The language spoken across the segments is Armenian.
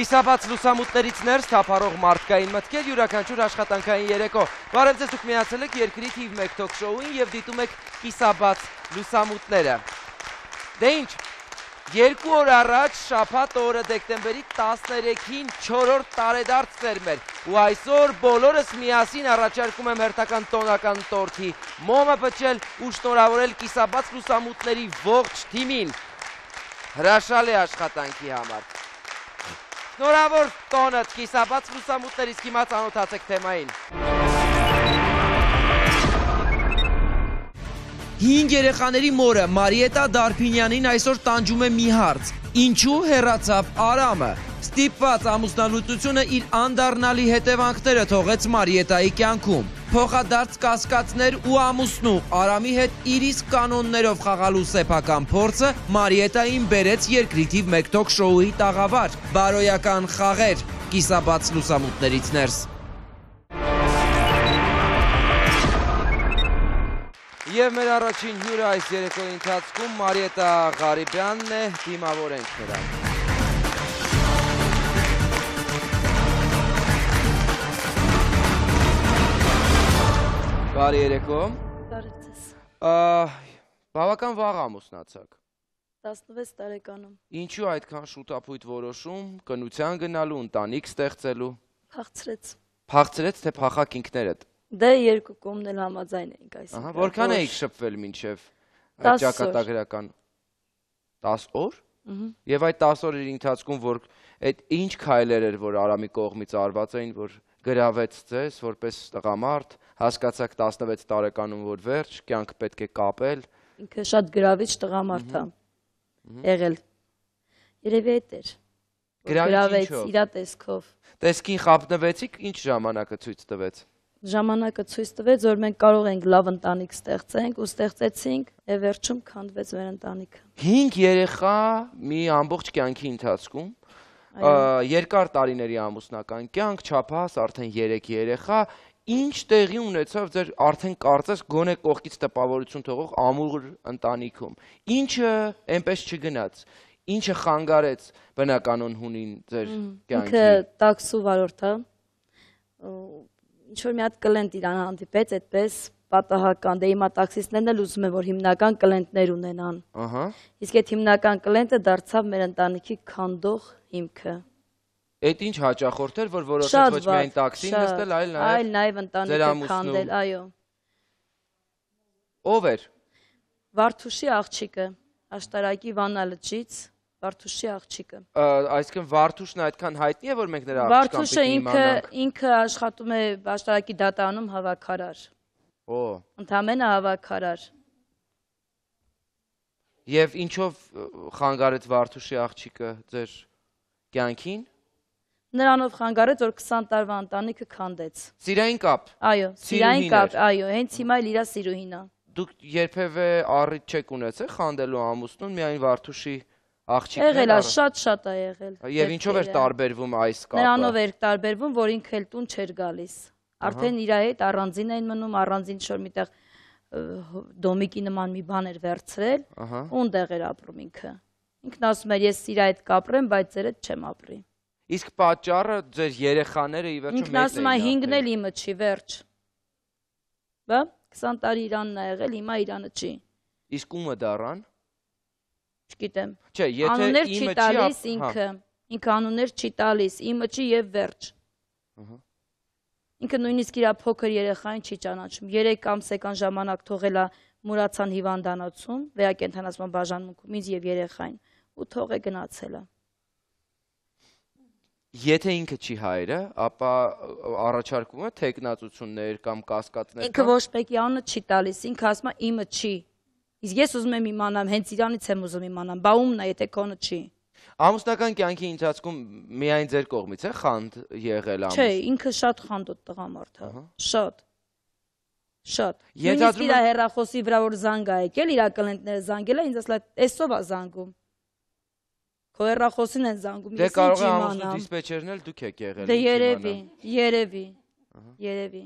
Կիսաբաց լուսամուտներից ներս թափառող մարդկային մտքեր յուրաքանչյուր աշխատանքային երեկո։ Բարև ձեզ, դուք միացել եք երկրի թիվ 1 թոք շոուին եւ դիտում եք Կիսաբաց լուսամուտները։ Դե ինչ, 2 օր առաջ շաբաթ օրը դեկտեմբերի 13-ին 4-րդ տարեդարձն էր մեր, ու այսօր բոլորս միասին առաջարկում եմ հերթական տոնական տորթի մոմը փչել ու շնորհավորել Կիսաբաց լուսամուտների ողջ թիմին հրաշալի աշխատանքի համար։ Շնորհավոր տոնդ Կիսաբաց լուսամուտներից, հիմա ծանոթացեք թեմային։ 5 երեխաների մորը Մարիետա Դարփինյանին այսօր տանջում է մի հարց. ինչու հեռացավ Արամը։ Ստիպված ամուսնալուծությունը իր անդառնալի հետևանքները թողեց Մարիետայի կյանքում։ Փոխադարձ կասկածներ ու ամուսնու Արամի հետ իր իսկ կանոններով խաղալու սեփական փորձը Մարիետային բերեց երկրի թիվ 1 թոք շոուի տաղավար։ Բարոյական խաղեր Կիսաբաց լուսամուտներից ներս։ Եվ մեր առաջին հյուրը այս երեկոյի ընթացքում Մարիետա Ղարիբյանն է, դիմավորենք նրան։ Բարի երեկո։ Բարև ձեզ։ Բավական վաղ ամուսնացաք։ 16 տարեկանում։ Ինչու այդքան շուտապույտ որոշում, կնության գնալու, ընտանիք ստեղծելու։ Փախցրեց։ Փախցրեց, թե փախակ ինքներդ։ Դե երկու կողմն էլ համաձայն էինք այսինքն։ Որքան էիք շփվել մինչև այդ ճակատագրական 10 օր։ Եվ այդ 10 օրերի ընթացքում որ այդ ինչ քայլեր էր, որ Արամի կողմից արված էին, որ գրավեց ձեզ որպես տղամարդ, հասկացաք 16 տարեկանում, որ վերջ, կյանք պետք է կապել։ Ինքը շատ գրավիչ տղամարդ է եղել։ Երևի այդ էր։ Գրավեց իր տեսքով։ Տեսքին խապնվեցիք, ինչ ժամանակը ցույց տվեց։ Ժամանակը ցույց տվեց, որ մենք կարող ենք լավ ընտանիք ստեղծենք ու ստեղծեցինք, եւ վերջում քանդվեց մեր ընտանիքը։ 5 երեխա մի ամբողջ կյանքի ընթացքում, երկար տարիների ամուսնական կյանք, չափահաս արդեն 3 երեխա, ինչ տեղի ունեցավ ձեր արդեն կարծես գոնե կողքից տպավորություն թողող ամուր ընտանիքում։ Ինչը այնպես չգնաց, ինչը խանգարեց բնականon հունին ձեր կյանքի։ Ինքը տաքսու վարորդ է։ Ինչ-որ մի հատ կլենտ իրան հանդիպեց, այդպես պատահական, դե հիմա տաքսիստներն էլ ուզում են, որ հիմնական կլենտներ ունենան։ Իսկ այդ հիմնական կլենտը դարձավ մեր ընտանիքի քանդող հիմքը։ Այդ ինչ հաճախորդ էր, որ որոշեց ոչ միայն տաքսին նստել, այլ նաև ընտանիքը քանդել, այո։ Ով էր։ Վարդուշի աղջիկը, Աշտարակի Վանա լճից։ Վարդուշի աղջիկը։ Այսինքն Վարդուշն այդքան հայտնի է, որ մենք նրա Վարդուշը ինքը աշխատում է Աշտարակի դատարանում հավաքարար։ Ընդամենը հավաքարար։ Եվ ինչով խանգարեց Վարդուշի աղջիկը ձեր կյանքին։ Նրանով խանգարեց, որ 20 տարվա ընտանիքը քանդեց։ Սիրային կապ։ Այո, սիրային կապ, այո, հենց հիմա էլ իր սիրուհին է։ Դուք երբևէ առիթ չեք ունեցել խանդելու ամուսնուն, միայն Վարդուշի աղջիկն եղել է, շատ է եղել։ Եվ ինչով էր տարբերվում այս կապը։ Նրանով էր տարբերվում, որ ինքը էլ տուն չէր գալիս։ Արդեն իր հետ առանձին էին մնում, առանձին շոր միտեղ դոմիկի նման մի բան էր վերցրել, ունդեղ էր ապրում ինքը։ Ինքն ասում էր, ես իր հետ կապրեմ, բայց ձեր հետ չեմ ապրի։ Իսկ պատճառը ձեր երեխաները ի վերջո ինքն ասում է 5-ն էլ իմը չի, վերջ։ Բա 20 տարի Իրանն է եղել, հիմա Իրանը չի։ Իսկ ումը դառան։ Չգիտեմ։ Չէ, եթե անուններ չի տալիս ինքը անուններ չի տալիս, իմը չի եւ վերջ։ Ինքը նույնիսկ իր փոքր երեխային չի ճանաչում։ 3 ամսական ժամանակ թողել է Մուրացան հիվանդանոցում, վերակենդանացման բաժանմունքում ինձ եւ երեխային, ու թող է գնացել է։ Եթե ինքը չի հայրը, ապա առաջարկում է թեկնածություններ կամ կասկածներ։ Ինքը ոչ մեկի անունը չի տալիս, ինքը ասում է իմը չի։ Իսկ ես ուզում եմ իմանամ, հենց Իրանից եմ ուզում իմանամ, բա ումն է, եթե քոնը չի։ Ամուսնական կյանքի ընթացքում միայն ձեր կողմից է խանդ եղել ամուսնու։ Չէ, ինքը շատ խանդոտ տղամարդ է, շատ։ Նույնիսկ իր հեռախոսի վրա որ զանգ է եկել, իր կլենտները զանգել է, ինձ ասել է, «Էսով է զանգում»։ Քո հեռախոսին են զանգում, ես ինչ իմանամ։ Դե կարող է ամուսնու դիսպեչերն էլ դուք եք եղել։ Դե երևի։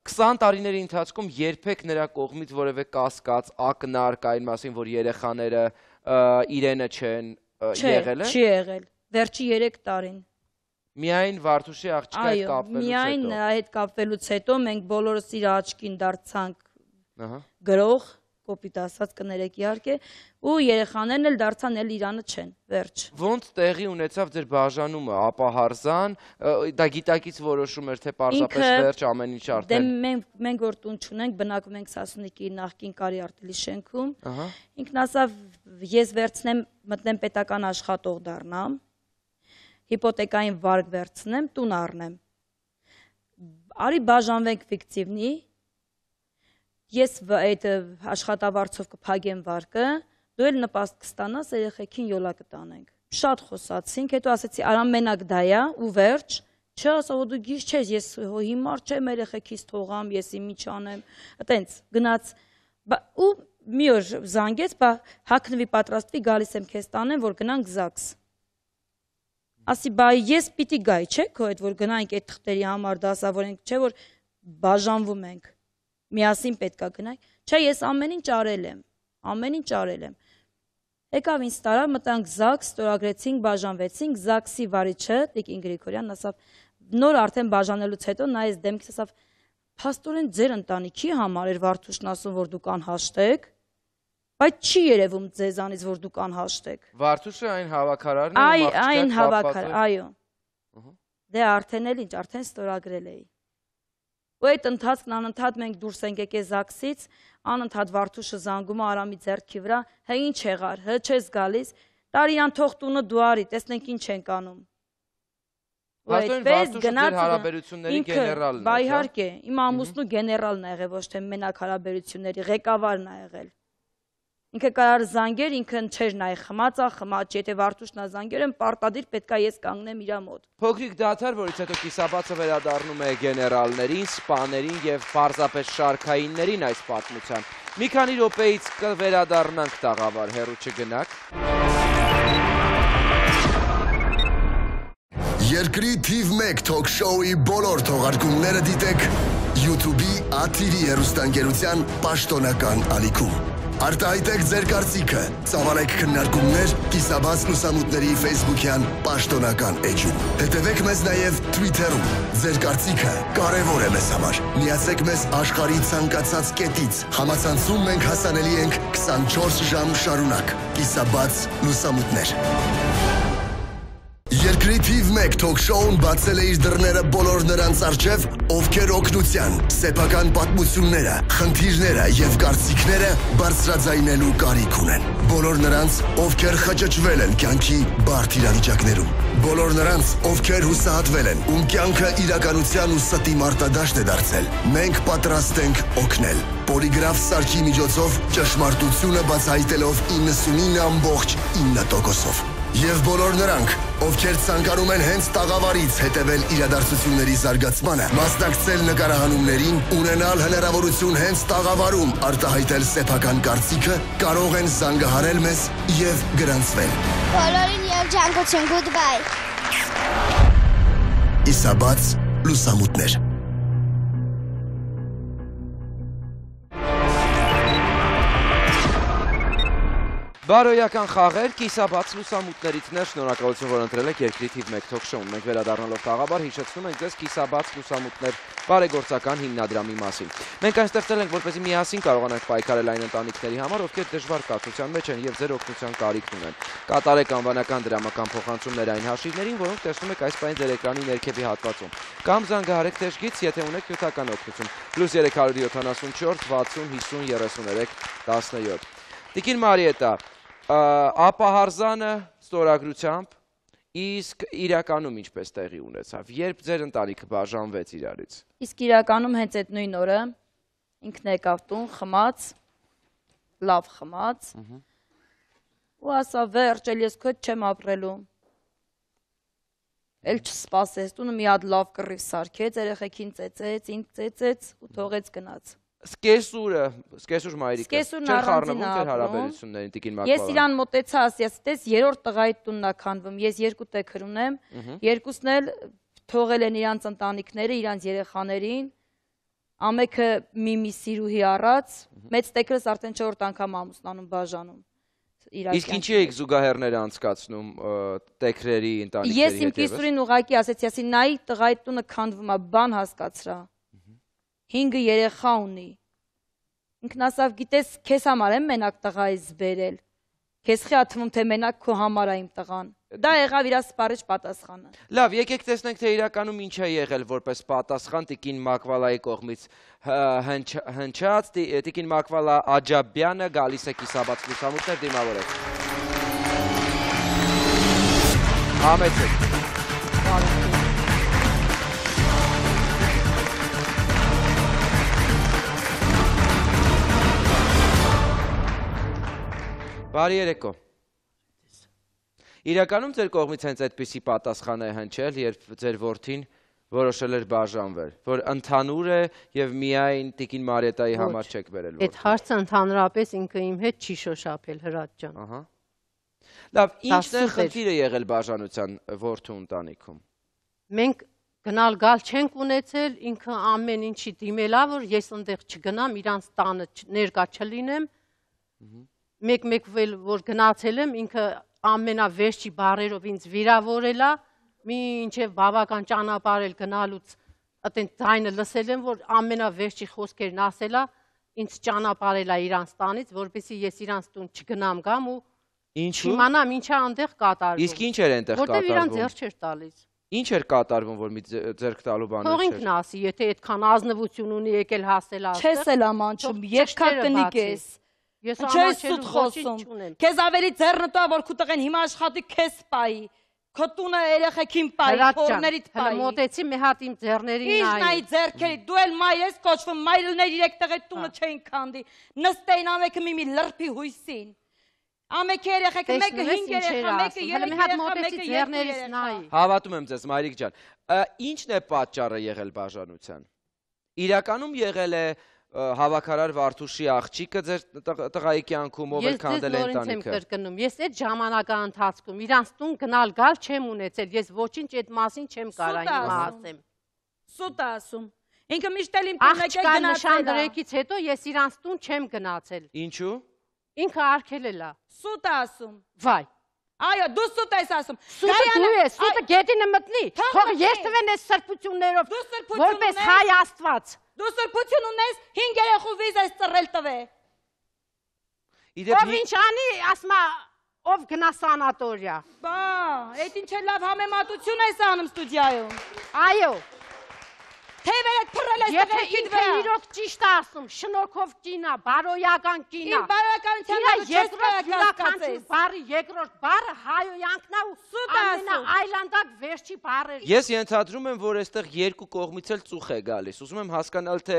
20 տարիների ընթացքում երբեք նրա կողմից որևէ կասկած, ակնարկ այն մասին, որ երեխաները իրենը չեն եղել է։ Չի եղել։ Վերջի 3 տարին։ Միայն Վարդուշի աղջկա հետ այո, միայն նրա հետ կապվելուց հետո մենք բոլորս իր աչքին դարձանք գրող, կոպիտ ասած կներեք իհարկե, ու երեխաներն էլ դարձան էլ Իրանը չեն, վերջ։ Ոնց տեղի ունեցավ ձեր բաժանումը, ապահարզան, դա գիտակից որոշում էր, թե պարզապես վերջ ամեն ինչ արդեն։ Դե մենք որ տուն չունենք, բնակվում ենք Սասունիքի նախկին Կարի արտելի շենքում, ինքն ասավ ես վերցնեմ, մտնեմ պետական աշխատող դառնամ, հիպոթեկային վարկ վերցնեմ, տուն առնեմ։ Արի բաժանվենք ֆիկտիվնի, ես այդ աշխատավարձով կփակեմ վարկը, դու էլ նպաստ կստանաս, երեխեքին յոլա կտանենք։ Շատ խոսացինք, հետո ասեցի, արամ մենակ դա է ու վերջ, չէ, ասա, որ դու գիշ չես, ես հիմար չեմ երեխեքից թողամ, ես իմիջ անեմ, այտենց գնաց, ու մի օր զանգեց, բա հագնվի պատրաստվի, գալիս եմ քեզ տանեմ, որ գնանք ԶԱԳՍ։ Ասի, բա ես պիտի գայի, չէ, քո հետ, որ գնանք այդ թղթերի համար դասավորենք, չէ, որ բաժանվում ենք, միասին պետք է գնանք, չէ, ես ամեն ինչ արել եմ, եկավ ինձ տարավ, մտանք ԶԱԳՍ, ստորագրեցինք, բաժանվեցինք, ԶԱԳՍ-ի վարիչը, Տիկին Գրիգորյանն ասավ, նոր արդեն բաժանելուց հետո նայեց դեմքիս, ասավ, փաստորեն ձեր ընտանիքի համար էր Վարդուշն ասում, որ դուք անհաշտեք, բայց չի երևում ձեզանից, որ դուք անհաշտեք։ Վարդուշը այն հավաքարարն է, այն հավաքար, այո։ Դե արդեն էլ ինչ, արդեն ստորագրել էի։ Ու այդ ընթացքն անընդհատ մենք դուրս ենք եկել ԶԱԳՍ-ից, անընդհատ Վարդուշը զանգում է Արամի ձեռքի վրա, հա ինչ եղար, հա չես գալիս, տարի իրան թող տունը դու արի, տեսնենք ինչ ենք անում։ Փաստորեն Վարդուշը ձեր հարաբերությունների գեներալն է։ Բա իհարկե, իմ ամուսնու գեներալն է եղել, ոչ թե մենակ հարաբերությունների, ղեկավարն է եղել։ Ինքը կարար զանգեր, ինքն չէր նայ խմած, եթե Վարդուշն է զանգեր, պարտադիր պետք է ես կանգնեմ իր մոտ։ Փոքրիկ դադար, որից հետո կիսաբացը վերադառնում է գեներալներին, սպաներին եւ պարզապես շարքայիններին այս պատմության։ Մի քանի րոպեից կվերադառնանք տաղավար, հեռու չգնաք։ Երկրի թիվ 1 թոք շոուի բոլոր թողարկումները դիտեք YouTube-ի ԱԹԻ-ի հեռուստաընկերության պաշտոնական ալիքում։ Արտահայտեք ձեր կարծիքը, ծավալեք քննարկումներ կիսաբաց լուսամուտների Facebook-յան պաշտոնական էջում։ Հետևեք մեզ նաև Twitter-ում։ Ձեր կարծիքը կարևոր է մեզ համար։ Միացեք մեզ աշխարհի ցանկացած կետից։ Համացանցում մենք հասանելի ենք 24 ժամ շարունակ։ Կիսաբաց լուսամուտներ։ Երկրի թիվ 1 թոք շոուն բացել է իր դռները բոլոր նրանց առջև, ովքեր օգնության, սեփական պատմությունները, խնդիրները եւ կարծիքները բարձրաձայնելու կարիք ունեն։ Բոլոր նրանց, ովքեր խճճվել են կյանքի բարդ իրավիճակներում։ Բոլոր նրանց, ովքեր հուսահատվել են, ում կյանքը իրականության ու ստի մարտադաշտ է դարձել։ Մենք պատրաստ ենք օգնել։ Պոլիգրաֆ սարքի միջոցով ճշմարտությունը բացահայտելով 99.9%-ով։ Եվ բոլոր նրանք, ովքեր ցանկանում են հենց տաղավարից հետևել իրադարձությունների զարգացմանը, մասնակցել նկարահանումներին, ունենալ հնարավորություն հենց տաղավարում արտահայտել սեփական կարծիքը, կարող են զանգահարել մեզ եւ գրանցվել։ Բոլորին երջանկություն, goodbye։ Կիսաբաց լուսամուտներ։ Բարոյական խաղեր, կիսաբաց լուսամուտներից ներ, շնորհակալություն, որ ընտրել եք երկրի թիվ 1 թոք շոուն։ Մենք վերադառնալով տաղավար հիշեցնում ենք ձեզ կիսաբաց լուսամուտներ բարեգործական հիմնադրամի մասին։ Մենք այն ստեղծել ենք, որպեսզի միասին կարողանանք պայքարել այն ընտանիքների համար, ովքեր դժվար կացության մեջ են եւ ձեր օգնության կարիքն ունեն։ Կատարեք անվանական դրամական փոխանցումներ այն հաշիվներին, որոնք տեսնում եք այս պահին ձեր էկրանի ներքևի հատվածում։ Կամ զանգահարեք թեժգից, եթե ունեք նյութական օգնություն։ +374 60 50 33 17։ Տիկին Մարիետա, ապահարզանը ստորագրությամբ, իսկ իրականում ինչպես տեղի ունեցավ, երբ ձեր ընտանիքը բաժանվեց իրարից։ Իսկ իրականում հենց այդ նույն օրը ինքն եկավ տուն, խմած, լավ խմած, ու ասա վերջ, էլ ես քո հետ չեմ ապրելու։ Էլ չսպասեց, տունը մի հատ լավ կռիվ սարքեց, երեխեքին ծեծեց, ինձ ծեծեց ու թողեց գնաց։ Սկեսուր մայրիկը, չեր խառնվում ձեր հարաբերություններին Տիկին Մակվարյան։ Ես իրան մոտեցա, ասես, երրորդ տղայի տունն է քանդվում, ես 2 տեքր ունեմ, երկուսն էլ թողել են իրանց ընտանիքները, իրանց երեխաներին, ամեքը մի սիրուհի առած, մեծ տեքրս արդեն 4 անգամ ամուսնանում բաժանում։ Իսկ ինչի եք զուգահեռները անցկացնում տեքրերի ընտանիքների Ես իմ հետևս։ կիսուրին ուղակի ասեցի, ասի նայի տղայի տունը քանդվում է, բան հասկացրա։ 5 երեխա ունի։ Ինքն ասավ, գիտես, քեզ համար եմ մենակ տղայից բերել։ Քեզ խի աթվում թե մենակ քո համար է իմ տղան։ Դա եղավ իր սպառիչ պատասխանը։ Լավ, եկեք տեսնենք թե իրականում ինչ է եղել որպես պատասխան Տիկին Մակվալայի կողմից հնչած, Տիկին Մակվալա Աջաբյանը գալիս է կիսաբաց լուսամուտներ դիմավորեց։ Համեցեք։ Բարի երեկո։ Իրականում ձեր կողմից հենց այդպիսի պատասխան է հնչել, երբ ձեր որդին որոշել էր բաժանվել, որ ընդհանուր է եւ միայն Տիկին Մարիետայի համար չեք բերել որդին։ Այդ հարցը ընդհանրապես ինքը իմ հետ չի շոշափել, Հրաչ ջան։ Ահա։ Լավ, ինչն է խնդիրը եղել բաժանության որդու ընտանիքում։ Մենք գնալ գալ չենք ունեցել, ինքը ամեն ինչի դիմելա, որ ես այնտեղ չգնամ, իրանց տանը ներկա չլինեմ։ Մեկ-մեկ որ գնացել եմ, ինքը ամենավերջի բառերով ինձ վիրավորելա, մինչև բավական ճանապարհել գնալուց այդեն ձայնը լսել եմ, որ ամենավերջի խոսքերն ասելա, ինձ ճանապարհելա իրանց տանից, որպեսզի ես իրանց տուն չգնամ գամ ու չիմանամ ինչա այնտեղ կատարվում։ Իսկ ինչ էր այնտեղ կատարվում։ Որտեղ իրան ձեռք չէր տալիս։ Ինչ էր կատարվում, որ մի ձեռք տալու բաներ չէր։ Թող ինքն ասի, եթե այդքան ազնվություն ունի եկել հասել այստեղ։ Չես էլ ամանչում, երկա տնիկ ես։ Ես Չես սուտ խոսում։ Քեզ ավելի ձեռնտու է, որ քո տղեն հիմա աշխատի քեզ պայի։ Քո տունը երեխեքին պայի, փորներիդ պայի։ Հələ մոտեցի մի հատ իմ ձեռներին նայի։ Ինչ նայի ձեռքերի, դու էլ մայր ես կոչվում, մայրներ իրեք տղետ տունը չէին քանդի։ Նստեին ամեքը մի լրբի հույսին։ Ամեքը երեխեքը, մեկը 5 երեխա, մեկը 3 երեխա, մեկը 2 երեխա։ Հավատում եմ ձեզ, Մայրիկ ջան։ Ինչն է պատճառը եղել բաժանության։ Իրականում եղել է հավաքարար Վարդուշի աղջիկը ձեր տղայի կյանքում, ով էլ քանդել է ընտանիքը։ Ես եմ կրկնում, ես այդ ժամանակա ընթացքում իրանց տուն գնալ գալ չեմ ունեցել, ես ոչինչ այդ մասին չեմ կարա հիմա ասեմ։ Սուտ ասում։ Ինքը միշտ էլ իմ տուն եկել գնացել է։ Նշան դրեկից հետո ես իրանց տուն չեմ գնացել։ Ինչու։ Ինքը արգելել է։ Սուտ ասում։ Վայ։ Այո, դու սուտ ես ասում։ Սուտը դու ես, սուտը գետինը մտնի։ Թող երթվեն այս սրբություններով, որպես հայ Աստված։ Դու սրբություն ունես 5 երեխու վիզ ես ծռել տվե։ Ով ինչ անի, ասմա, ով գնա սանատորիա։ Բա, այդ ինչ է լավ համեմատություն ես անում ստուդիայում։ Այո։ Թևերդ փռել ես Եթե տղերքիդ ինքը վրա։ իրոք ճիշտ է ասում, շնորհքով կինա, բարոյական կինա։ Իմ բարոյականության Իրա երկրորդ յուրաքանչյուր բառի երկրորդ բառը հայոյանքն է ու ամենաայլանդակ վերջի բառերը։ Ես ենթադրում եմ, որ այստեղ երկու կողմից էլ ծուխ է գալիս։ Ուզում եմ հասկանալ, թե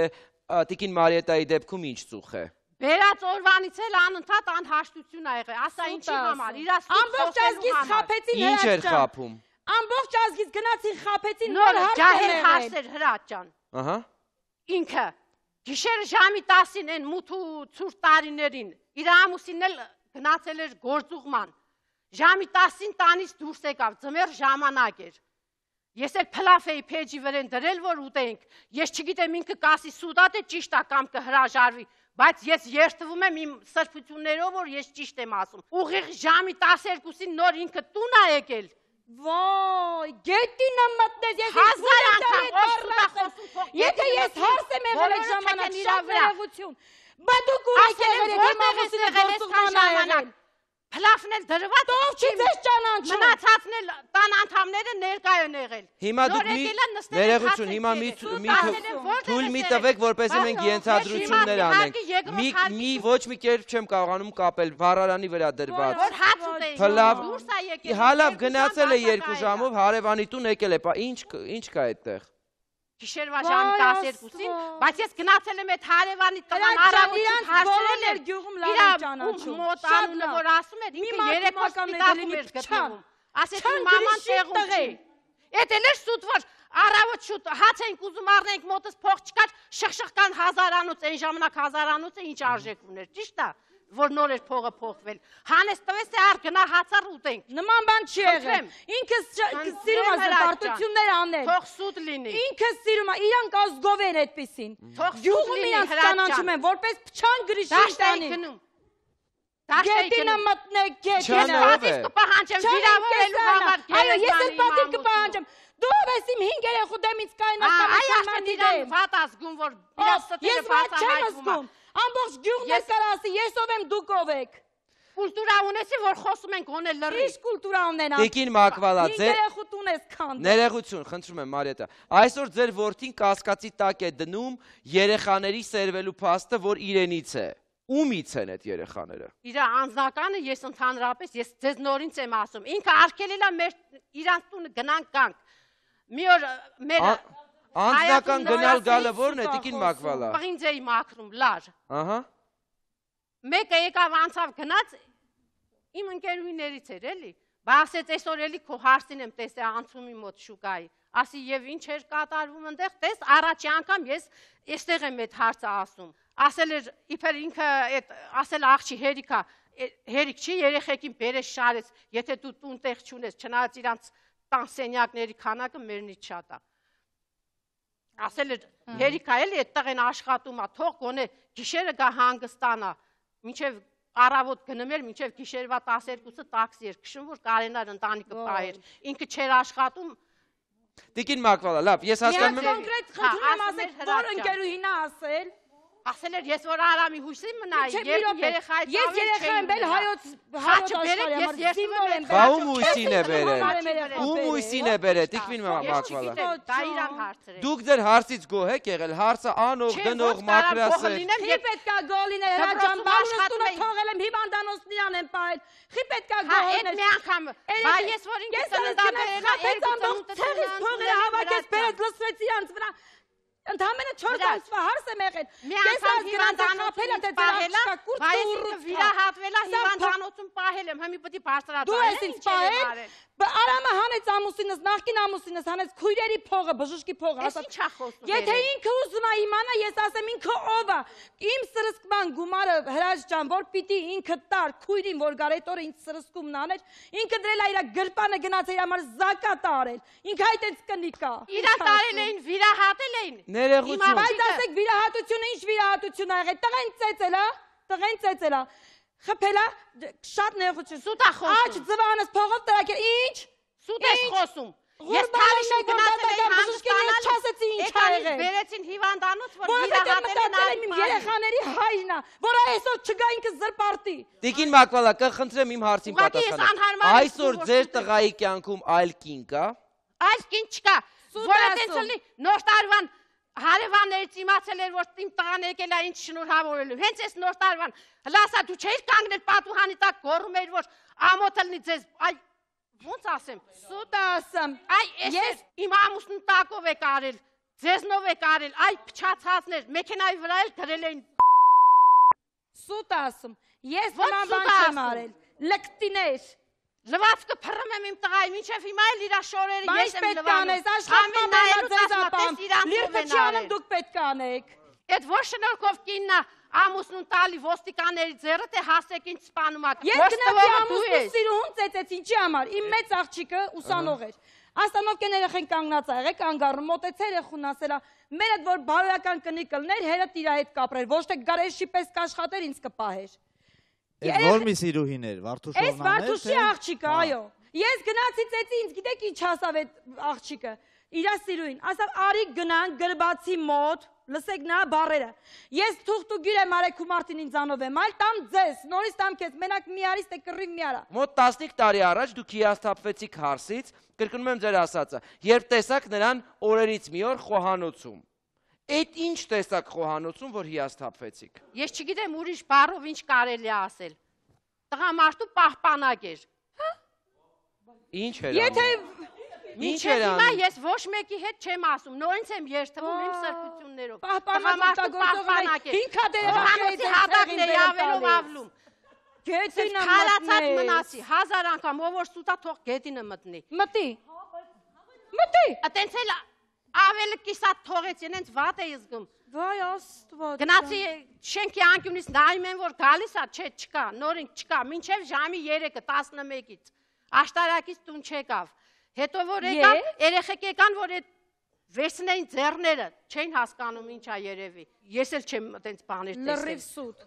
Տիկին Մարիետայի դեպքում ինչ ծուխ է։ Բերած օրվանից էլ անընդհատ անհաշտություն ա եղել։ Ասա ինչի համար, իրա ամբողջ ազգից խափեցին Ինչ էր խափում։ Ամբողջ ազգից գնացին խափեցին նոր ջահել հարցեր Հրաչ ջան։ Ահա։ Ինքը գիշերը ժամի 10-ին են մութ ու ցուրտ տարիներին իր ամուսինն էլ գնացել էր գործուղման։ Ժամի 10-ին տանից դուրս եկավ, ձմեռ ժամանակ էր։ Ես էլ փլաֆ էի փեջի վրան դրել, որ ուտենք։ Ես չգիտեմ ինքը կասի սուդատ է ճիշտ է կամ կհրաժարվի, բայց ես երթվում եմ իմ սրբություններով, որ ես ճիշտ եմ ասում։ Ուղիղ ժամի 12-ին նոր ինքը տուն է եկել։ Ոայ, գետինը մտնես, ես հազար անգամ խոսում։ Եթե ես հարս եմ եղել այդ ժամանակ շատ վերեղություն, բա դու կուրեք եղել եք իմ ամուսինը գործուղման եղել։ Փլաֆն էլ դրված, ով չի ձեզ ճանաչում։ Մնացածն էլ տան անդամները ներկայ են եղել։ Հիմա դուք ներողություն, հիմա թույլ մի տվեք, որպեսզի մենք ենթադրություններ անենք։ Մի ոչ մի կերպ չեմ կարողանում կապել, վառարանի վրա դրված։ Որ հաց ուտեին։ Փլավ, հալավ գնացել է 2 ժամով, հարևանի տուն եկել է, ինչ կա այդտեղ։ Գիշերվա ժամի 12-ին, բայց ես գնացել եմ այդ հարևանի տղան առավոտին հարցրել էր գյուղում լավ ճանաչում։ Մոտ անունը որ ասում էր, ինքը 3 օր սպիտակում էր գտնվում։ Ասեցին մաման տեղում չի։ Էդ էլ էր սուտ որ առավոտ շուտ հաց ենք ուզում առնենք մոտս փող չկար, շխշխկան հազարանոց, այն ժամանակ հազարանոցը ինչ արժեք ուներ, ճիշտ է։ Որ նոր էր փողը փոխվել։ Հանես տվես է առ գնա հացար ուտենք։ Նման բան չի եղել։ Ինքը սիրում է զբարտություններ անել։ Թող սուտ լինի։ Ինքը սիրում է, իրանք ազգով են այդպեսին։ Թող Գյուղում իրանք ճանաչում են, որպես փչան գրիշին տանի։ Գետինը մտնեք, գետինը։ Ես պատիվ կպահանջեմ վիրավորելու համար Ես էլ պատիվ կպահանջեմ։ Դու ես իմ 5 երեխու դեմից կայնական Այ դրան վատ ազգում, որ իրաց ստերը բացահայտվում է։ Ամբողջ գյուղն է կարասի, ես ով եմ, դուք ով եք։ Կուլտուրա ունեցի, որ խոսում ենք գոնե լրի։ Ինչ կուլտուրա ունենա։ Տիկին Մակվալա, 5 երեխու տուն ես քանդում։ Ներողություն, խնդրում եմ Մարիետա։ Այսօր ձեր որդին կասկածի տակ է դնում երեխաների սերվելու փաստը, որ իրենից է։ Ումից են այդ երեխաները։ Իր անձնականը ես ընդհանրապես ես ձեզ նորից եմ ասում։ Ինքը արգելել է մեր իրանց տունը գնանք գանք։ Մի օր մեր Անձնական գնալ գալը ո՞րն է, Տիկին Մակվալա։ Պղինձ էի մաքրում, լար։ Ահա։ Մեկը եկավ անցավ գնաց իմ ընկերուհիներից էր էլի։ Բացեց այսօր էլի քո հարցին եմ տեսել անցումի մոտ շուկայի։ Ասի եւ ինչ էր կատարվում այնտեղ, տես առաջի անգամ ես այստեղ եմ այդ հարցը ասում։ Ասել էր իբր ինքը այդ ասել աղջի հերիքա, հերիք չի երեխեքին բերես շարեց, եթե դու տուն տեղ չունես, չնայած իրանց տան սենյակների քանակը մերնից շատ է։ Ասել էր հերիքա էլի այդտեղ են աշխատում, թող գոնե գիշերը գա հանգստանա, մինչև առավոտ գնում էր, մինչև գիշերվա 12-ը տաքսի էր քշում, որ կարենար ընտանիքը պահեր։ Ինքը չէր աշխատում։ Տիկին Մակվալա, լավ, ես հասկանում եմ։ Կոնկրետ խնդրում եմ ասեք, որ ընկերուհին է ասել։ Ասել էր ես որ Արամի հույսի մնայի, երեխայից ես երեխա եմ բել հայոց աշխարհի համար զինվոր եմ։ Բա ում հույսին է բերել։ Ում հույսին է բերել, Տիկին Մակվալա։ Դա իրան հարցեր է։ Դուք ձեր հարցից գոհ եք եղել, հարցը անող դնող մակրասեր։ Խի պետքա գոհ լինել, հրաչան բանուստունը թողել եմ հիվանդանոցն իրան եմ պահել։ Խի պետքա գոհ լինել։ Այդ մի անգամ, բա ես որ ինքս ծննդաբերել եմ, ամբողջ ցեղից փողերը հավաքեց, բերեց լսվեց իրանց վրա։ Ընդհանրապես 4 ամսվա հարց եմ եղել։ Ես հիվանդանոցում պահել եմ, բայց վիրահատվել է հիվանդանոցում պահել եմ, հիմա պետք է բարձրացնել։ Դու ես ինձ պահել։ Արամը հանեց ամուսինս, նախկին ամուսինս հանեց քույրերի փողը, բժշկի փողը, ասաց։ Ինչ է խոսում։ Եթե ինքը ուզում է իմանա, ես ասեմ ինքը ով է։ Իմ սրսկման գումարը Հրաչ ջան, որ պիտի ինքը տար քույրին, որ գար այդ օրը ինձ սրսկումն աներ, ինքը դրել է իր գրպանը գնաց իր համար զակատ արել։ Ինքը այդպես կնիկա։ Իրա տարել էին, վիրահատել էին։ Ներողություն։ Բայց ասեք վիրահատությունը ինչ վիրահատություն ա եղել։ Տղեն ծեծել է, տղեն ծեծել է։ Խփելա շատ ներողություն։ Սուտ է խոսում։ Աջ ձվանս փողով տրակել։ Ինչ։ Սուտ է խոսում։ Ես թարիշը գնացել եմ հանգստանալ, չասեցի ինչ ա եղել։ Բերեցին հիվանդանոց, որ վիրահատել են իմ երեխաների հայրն է, որ այսօր չգա ինքը զրպարտի։ Տիկին Մակվալա, կխնդրեմ իմ հարցին պատասխանել։ Այսօր ձեր տղայի կյանքում այլ կին կա։ Այլ կին չկա։ Որը տենց լինի նոր տարվան հարևաններից իմացել էր, որ իմ տղան եկել է ինչ շնորհավորելու։ Հենց այս նոր տարվան, լասա դու չէիր կանգնել պատուհանի տակ գոռում էր, որ ամոթը լինի ձեզ, այ ոնց ասեմ, սուտ ասեմ։ Այ ես իմ ամուսնու տակով եք արել, ձեզնով եք արել, այ փչացածներ, մեքենայի վրա էլ դրել էին։ Սուտ ասում։ Ես նման բան չեմ արել։ Լկտիներ։ Լվացքը փռում եմ իմ տղայի, մինչև հիմա էլ իրա շորերը ես եմ լվանում։ Լիրտչյանը դուք պետք է անեք։ Այդ ոչ շնորհքով կինն է ամուսնուն տալի ոստիկանների ձեռը, թե հասեք ինչ սպանում եք։ Ես գնացի ամուսնու սիրուհուն ծեծեց, ինչի համար։ Իմ մեծ աղջիկը ուսանող էր։ Աստանովկեն երեխեն կանգնած ա եղել, կանգառում, մոտեց երեխուն ասելա, մեր այդ որ բարոյական կնիկ կլներ, հերդ իր հետ կապրեր, ոչ թե գարեշի պես կաշխատեր, ինձ կպահեր։ Այդ որ մի սիրուհին էր, Վարդուշովն Այս Վարդուշի աղջիկը, այո։ Ես գնացի ծեծի, ինձ գիտեք ինչ ասավ այդ աղջիկը։ Իրա սիրուհին, ասավ արի գնան գրբացի մոտ, լսեք նա բառերը։ Ես թուղթուգիր եմ Արեգ ու Մարտին ինձանով եմ, այլ տամ ձեզ, նորից տամ քեզ, մենակ մի արի, ստե կռիվ մի արա։ Մոտ 15 տարի առաջ դուք հիասթափվեցիք հարսից, կրկնում եմ ձեր ասածը, երբ տեսաք նրան օրերից մի օր խոհանոցում։ Այդ ինչ տեսակ խոհանոցում, որ հիասթափվեցիք։ Ես չգիտեմ ուրիշ բառով ինչ կարելի է ասել։ Տղամարդու պահպանակ էր։ Ինչ էր անում։ Եթե մինչև հիմա ես ոչ մեկի հետ չեմ ասում, նորից եմ երթվում իմ սրբություններով։ Տղամարդու պահպանակ էր։ 5 հատ երեխաների հատակն է ավելով ավլում։ Գետինը քարացած մնացի 1000 անգամ, ով որ սուտա թող գետինը մտնի։ Մտի։ Մտի։ Այտենց էլ ավելի կիսատ թողեց, ինձ վատ է զգում։ Վայ Աստված։ Գնացի շենքի անկյունից նայում եմ, որ գալիս է, չէ, չկա, նորին չկա, մինչև ժամի 3-ը 11-ից։ Աշտարակից տուն չեկավ։ Հետո որ եկավ, երեխեք եկան, որ այդ վերցնեին ձեռները, չէին հասկանում ինչա երևի։ Ես էլ չեմ այտենց բաներ տեսել։ Լրիվ սուտ։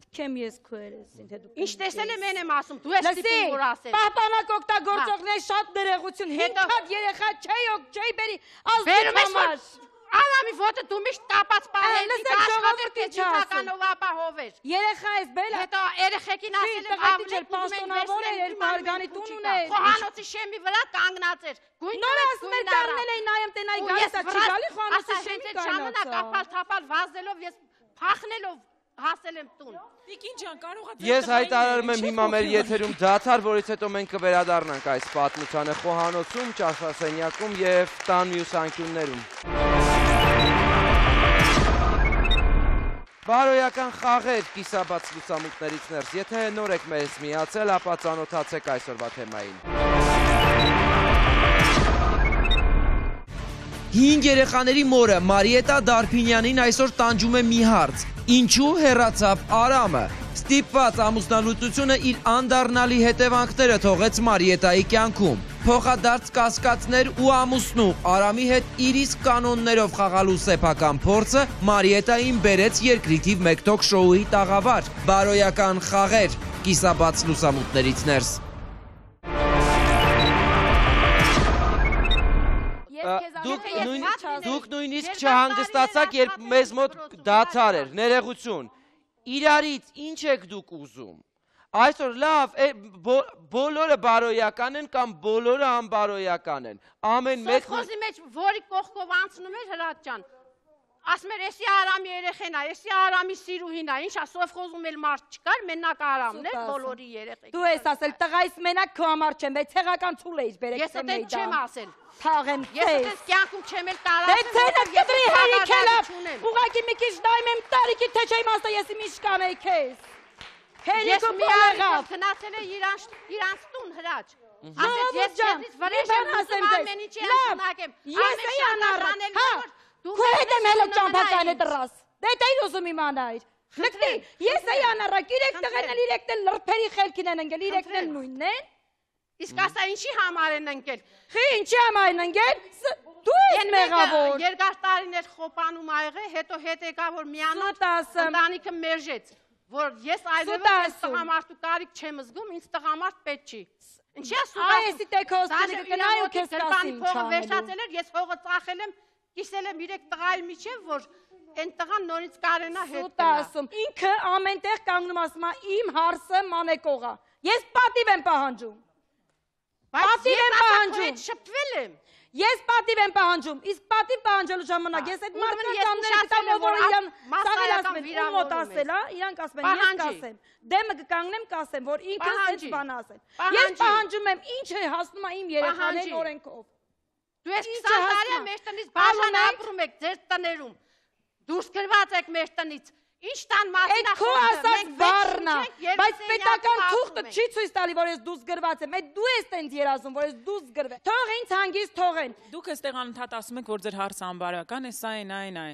Չեմ ես քո երեսին, թե դու։ Ինչ տեսել եմ եմ ասում, դու ես ստիպում որ ասել։ Պահպանակ օգտագործողներ շատ ներողություն, 5 հատ երեխա չի բերի ազդու համար։ Արամի ոտը դու միշտ տապած պահել, աշխատել քեջականով ապահոver։ Երեխա ես բել։ Հետո երեխեքին ասել եմ ավելի պաշտոնավոր էր, երկու հարգանի տուն ուներ։ Խոհանոցի շեմի վրա կանգնած էր։ Նոր ասում եմ դառնել էի նայեմ տենայի գալիս է, չի գալի խոհանոցի շեմի կանգնած։ Ժամանակ ապալ-թապալ վազելով ես փախնելով հասել եմ տուն։ Տիկին ջան, կարող ա Ես հայտարարում եմ հիմա մեր եթերում դադար, որից հետո մենք կվերադառնանք այս պատմությանը խոհանոցում, ճաշասենյակում եւ տան մյուս անկյուններում։ Բարոյական խաղեր կիսաբաց լուսամուտներից ներս, եթե նոր եք մեզ միացել, ապա ծանոթացեք այսօրվա թեմային։ 5 երեխաների մորը Մարիետա Դարփինյանին այսօր տանջում է մի հարց. ինչու հեռացավ Արամը։ Ստիպված ամուսնալուծությունը իր անդառնալի հետևանքները թողեց Մարիետայի կյանքում։ Փոխադարձ կասկածներ ու ամուսնու Արամի հետ իր իսկ կանոններով խաղալու սեփական փորձը Մարիետային բերեց երկրի թիվ 1 թոք շոուի տաղավար։ Բարոյական խաղեր կիսաբաց լուսամուտներից ներս։ Դուք նույնիսկ չհանգստացաք, երբ մեզ մոտ դադար էր, ներողություն։ Իրարից ինչ եք դուք ուզում։ Այսօր լավ, բոլորը բարոյական են կամ բոլորը անբարոյական են։ Ամեն մեկ Սովխոզի մեջ որի կողքով անցնում էր Հրաչ ջան։ Ասում էր, էսի Արամի երեխեն է, էսի Արամի սիրուհին է, ինչ է, սովխոզում էլ մարդ չկար, մենակ Արամն էր, բոլորի երեխեք։ Դու ես ասել, տղայիս մենակ քո համար չեմ, բայց ցեղական ցուլ էիր բերեք Ես դեռ չեմ ասել։ Թաղեմ Ես դեռ կյանքում չեմ էլ տարածել։ Դե ցերս հերիք έλավ։ Ուղղակի մի քիչ դայմ եմ տարիքի թե չէ իմաստը ես իմիշ կանեի քեզ։ Ես մի աղավ գնացել է իրանց տուն Հրաչ։ Ասեց ես ձեզնից վրեժ եմ ասեմ ամեն ինչի անցնակեմ։ Ես էի անառանել, հա։ Քո հետ եմ հելը ճամփականը դրաս։ Դե դեր ուզում իմանայր։ Լքտի, ես էի անառակ, իրեք տղերն էլ իրեկն էլ լրբերի խելքին են ընկել, իրեկն էլ նույնն են։ Իսկ ասա ինչի համար են ընկել։ Խի ինչի համար են ընկել։ Դու ես մեղավոր։ Երկար տարիներ խոպանում ա եղել, հետո հետ եկա որ միանոց ընտանիքը մերժեց, որ ես այլևս տղամարդու կարիք չեմ զգում, ինձ տղամարդ պետք չի։ Ինչի է սուղա։ Այսի տեքոստի կնայ ու քեզ կասի ինչ փողը վերջացել էր, ես հողը ծախել եմ, կիսել եմ 3 տղայի միջև, որ այն տղան նորից կարենա հետ գնա։ Ինքը ամենտեղ կանգնում ասում է իմ հարսը մանեկող է։ Ես պատիվ եմ պահանջում։ Պատիվ եմ պահանջում։ Շփվել եմ։ Ես պատիվ եմ պահանջում, իսկ պատիվ պահանջելու ժամանակ ես այդ մարդկանցները տամ որ իրան սավելացնեն, ու մոտ ասել, հա, իրանք ասում են, ես կասեմ, դեմը կկանգնեմ կասեմ, որ ինքը այդ բան ասել։ Ես պահանջում եմ, ինչ է հասնում է իմ երեխաների օրենքով։ Դու ես 20 տարի է մեր տնից բաժան ապրում եք ձեր տներում։ Դուրս գրված եք մեր տնից։ Ինչ տան մասին է խոսքը։ Այդ քո ասած բառն է, բայց պետական թուղթը չի ցույց տալի, որ ես դուրս գրված եմ։ Այդ դու ես տենց երազում, որ ես դուրս գրվել։ Թող ինձ հանգիստ թողեն։ Դուք այստեղ անընդհատ ասում եք, որ ձեր հարցը անբարոյական է, սա այն այն է։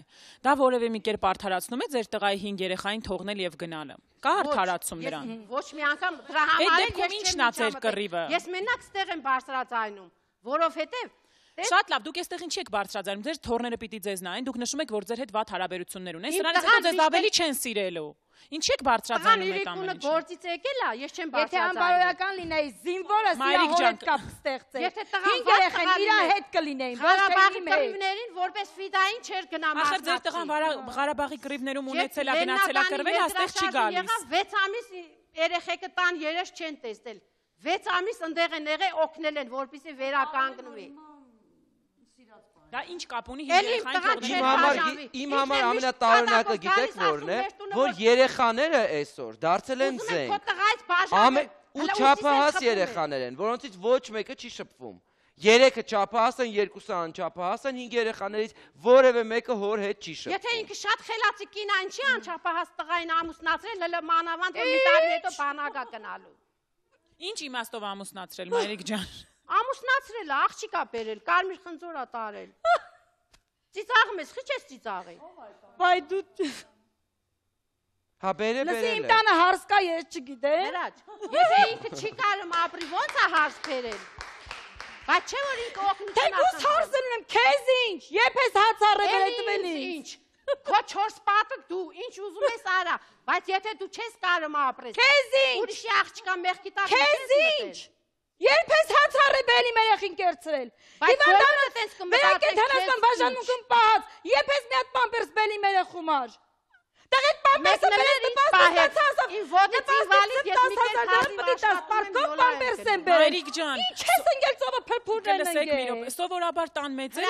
Դա որևէ մի կերպ արդարացնում է ձեր տղայի 5 երեխային թողնել եւ գնալը։ Կա արդարացում դրան։ Ոչ մի անգամ դրա համար ինչն է ձեր կռիվը։ Ես մենակ ստեղ եմ բարձրացնում, որովհետեւ Շատ լավ, դուք այստեղ ինչի եք բարձրացնում, ձեր թորները պիտի ձեզ նայեն, դուք նշում եք, որ ձեր հետ վատ հարաբերություններ ունեն, սրանից հետո ձեզ ավելի չեն սիրելու։ Ինչի եք բարձրացնում այդ ամեն ինչը։ Գործից եկել է, ես չեմ բարձրացնում։ Եթե անբարոյական լինեի, զինվորը իր հետ կապ ստեղծեր։ 5 երեխան իր հետ կլինեին, ոչ թե իմ հետ։ Կռիվներին որպես ֆիդային չէր գնա մասնակցի։ Ախր ձեր տղան Ղարաբաղի կռիվներում ունեցել է, գնացել է կռվել, այստեղ չի գալիս։ 6 ամիս երեխեքը տան երես չեն տեսել։ 6 ամիս ընդեղ են եղել, օգնել են, որպեսզի վերականգնվի։ Դա ինչ կապ ունի երեխային Իմ համար ամենատարօրինակը գիտեք որն է, որ երեխաները այսօր դարձել են զենք։ Ու չափահաս երեխաներ են, որոնցից ոչ մեկը չի շփվում։ 3-ը չափահաս են, 2-ը անչափահաս են, 5 երեխաներից որևէ մեկը հոր հետ չի շփվում։ Եթե ինքը շատ խելացի կին է, ինչի անչափահաս տղային ամուսնացրել, հələ մանավանդ որ մի տարի հետո բանակա գնալու։ Ինչ իմաստով ամուսնացրել, մայրիկ ջան։ Ամուսնացրել է, աղջիկա բերել, կարմիր խնձոր է տարել։ Ծիծաղում ես, խիչ ես ծիծաղի։ Բայ դու Հա բերել Լսի իմ տանը հարս կա, ես չգիտեմ։ Հրաչ, եթե ինքը չի կարում ապրի, ո՞նց է հարս բերել։ Բայց չէ որ ինքը օգնություն ասում։ Թեկուզ հարսն ունեմ, քեզ ինչ։ Երբ ես հաց առել այդ տվելից։ Ինչ։ Քո 4 պատը դու ինչ ուզում ես արա, բայց եթե դու չես կարող ապրես։ Քեզ ինչ։ Ուրիշի աղջկա մեղքի տակ Քեզ ինչ։ Երբ ես հացարը բելի երեխին կերցրել։ Հիվանդանը տես կմտածես։ Կենթանական բաժանմունքում պահած, երբ ես մի հատ պամպերս բելի երեխու մար։ Տեղ այդ պամպերսը բերես տպաստացածով։ Իմ ոտեցի վալից ես մի կեր պարկով պամպերս եմ բերել։ Մայրիկ ջան։ Ինչ ես ընկել ծովը փրփուրն են ընկել։ Սովորաբար տան մեծ է,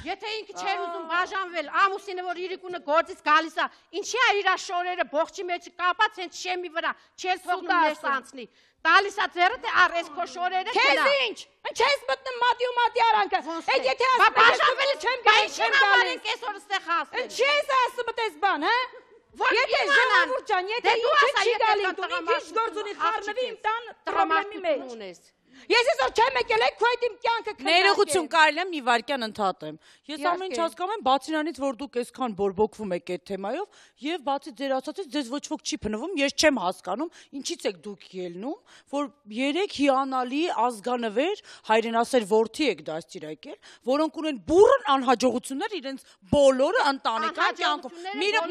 եթե ինքը չէր ուզում բաժանվել, ամուսինը որ իրիկունը գործից գալիս է, ինչի է իր շորերը բողջի մեջ կապած հենց շեմի վրա, չես թողնում ներս անցնի։ Տալիս է ձեռը թե առես քո շորերը գնա։ Քեզ ինչ։ Ինչ ես մտնում մատի ու մատի արանքը։ Այդ եթե ասում բաժանվել չեմ գալիս, չեմ գալիս կեսօր ստեղ ասել։ Ինչ ես ասում այդպես բան, հա։ Եթե ժողովուրդ ջան, եթե դու ինքը չի գալի, դու ասա, ինչ գործ ունի խառնվի իմ տան պրոբլեմի մեջ։ ունես։ Ես այսօր չեմ եկել, քո այդ իմ կյանքը քննարկել։ Ներողություն կարելի է մի վարքյան ընդհատեմ։ Ես Իհարկե։ ամեն ինչ հասկանում եմ, բացի նրանից, որ դուք այսքան բորբոքվում եք այդ թեմայով, եւ բացի ձեր ասածից ձեզ ոչ ոք չի փնվում, ես չեմ հասկանում, ինչից եք դուք ելնում, որ 3 հիանալի ազգանվեր հայրենասեր որդի եք դաստիարակել, որոնք ունեն բուրըն անհաջողություններ իրենց բոլորը ընտանեկան կյանքում։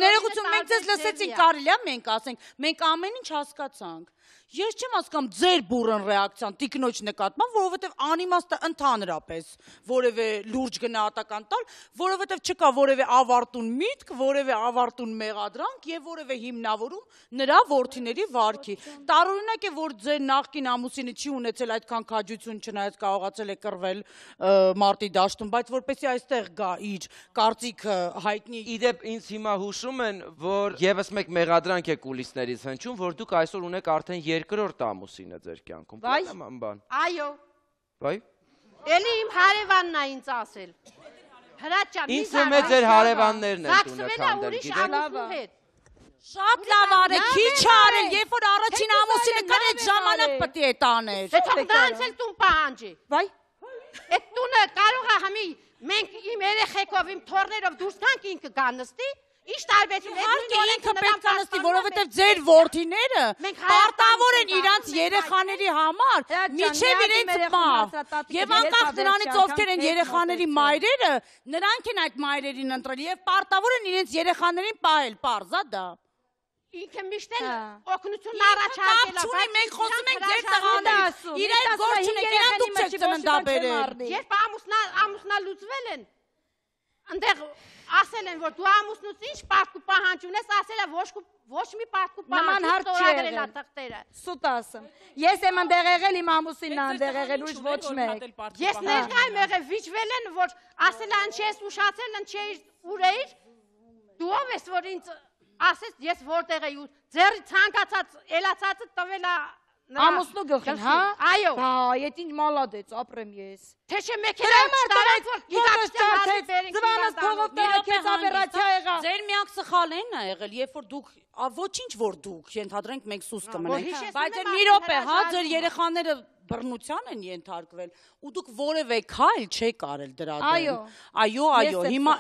Ներողություն, մենք ձեզ լսեցինք, կարելի է մենք ասենք, մենք ամեն ինչ հասկացանք։ Ես չեմ հասկանում ձեր բուրըն ռեակցիան տիկնոջ նկատմամբ, որովհետև անիմաստ է ընդհանրապես որևէ լուրջ գնահատական տալ, որովհետև չկա որևէ ավարտուն միտք, որևէ ավարտուն մեղադրանք եւ որևէ հիմնավորում նրա որդիների վարքի։ Տարօրինակ է, որ ձեր նախկին ամուսինը չի ունեցել այդքան քաջություն, չնայած կարողացել է կռվել մարտի դաշտում, բայց որպեսզի այստեղ գա իր կարծիքը հայտնի։ Իդեպ ինձ հիմա հուշում են, որ եւս մեկ մեղադրանք է կուլիսներից հնչում, որ դուք այսօր ունեք արդեն երկրորդ ամուսինը ձեր կյանքում։ Բան։ Այո։ Վայ։ Էլի իմ հարևանն է ինձ ասել։ Հրաչան, ինձ թվում է ձեր հարևաններն են տունը քանդել, գիտեք։ Շատ լավ արեք, քիչ արել, երբ որ առաջին ամուսինը կար այդ ժամանակ պետք է տաներ։ Դե թող դրանցել տուն պահանջի։ Վայ։ Այդ տունը կարող է համի մենք իմ երեխեքով, իմ թորներով դուրս գանք ինքը գա նստի։ Ինչ տարբերություն է ինքը պետք է նստի, որովհետև ձեր որդիները պարտավոր են իրանց երեխաների համար, միջև իրենց մահ։ Եվ անկախ նրանից ովքեր են երեխաների մայրերը, նրանք են այդ մայրերին ընտրել եւ պարտավոր են իրենց երեխաներին պահել, պարզա դա։ Ինքը միշտ էլ օգնություն առաջարկել է, բայց մենք խոսում ենք ձեր տղաներից։ Իրար գործ չունեք, իրան դուք չեք ծննդաբերել։ Երբ ամուսնալուծվել են, այնտեղ ասել են, որ դու ամուսնուց ինչ պարտք ու պահանջ ունես, ասել է ոչ մի պարտք ու պահանջ ստորագրել է թղթերը։ Սուտ ասեմ։ Ես եմ ընդեղ եղել, իմ ամուսինն է ընդեղ եղել, ուրիշ ոչ մեկ։ Ես ներկա եմ եղել, վիճվել են, որ ասել է ինչ ես ուշացել, ինչ էիր, ուր էիր։ Դու ով ես, որ ինձ ասես, ես որտեղ էի, ձեռի ցանկացած ելացածը տվել է ամուսնու գլխին, հա։ Այո։ Բա, այդ ինչ մալադեց, ապրեմ ես։ Թե չէ մեքենա չտարած, որ գիտակցության ձվանս փողով տարակեց ապերացիա եղա։ Ձեր միակ սխալն է եղել, երբ որ դուք ոչինչ որ դուք ենթադրենք մենք սուս կմնենք, բայց մի րոպե, հա, ձեր երեխաները բռնության են ենթարկվել ու դուք որևէ քայլ չեք արել դրա դեմ։ Այո, հիմա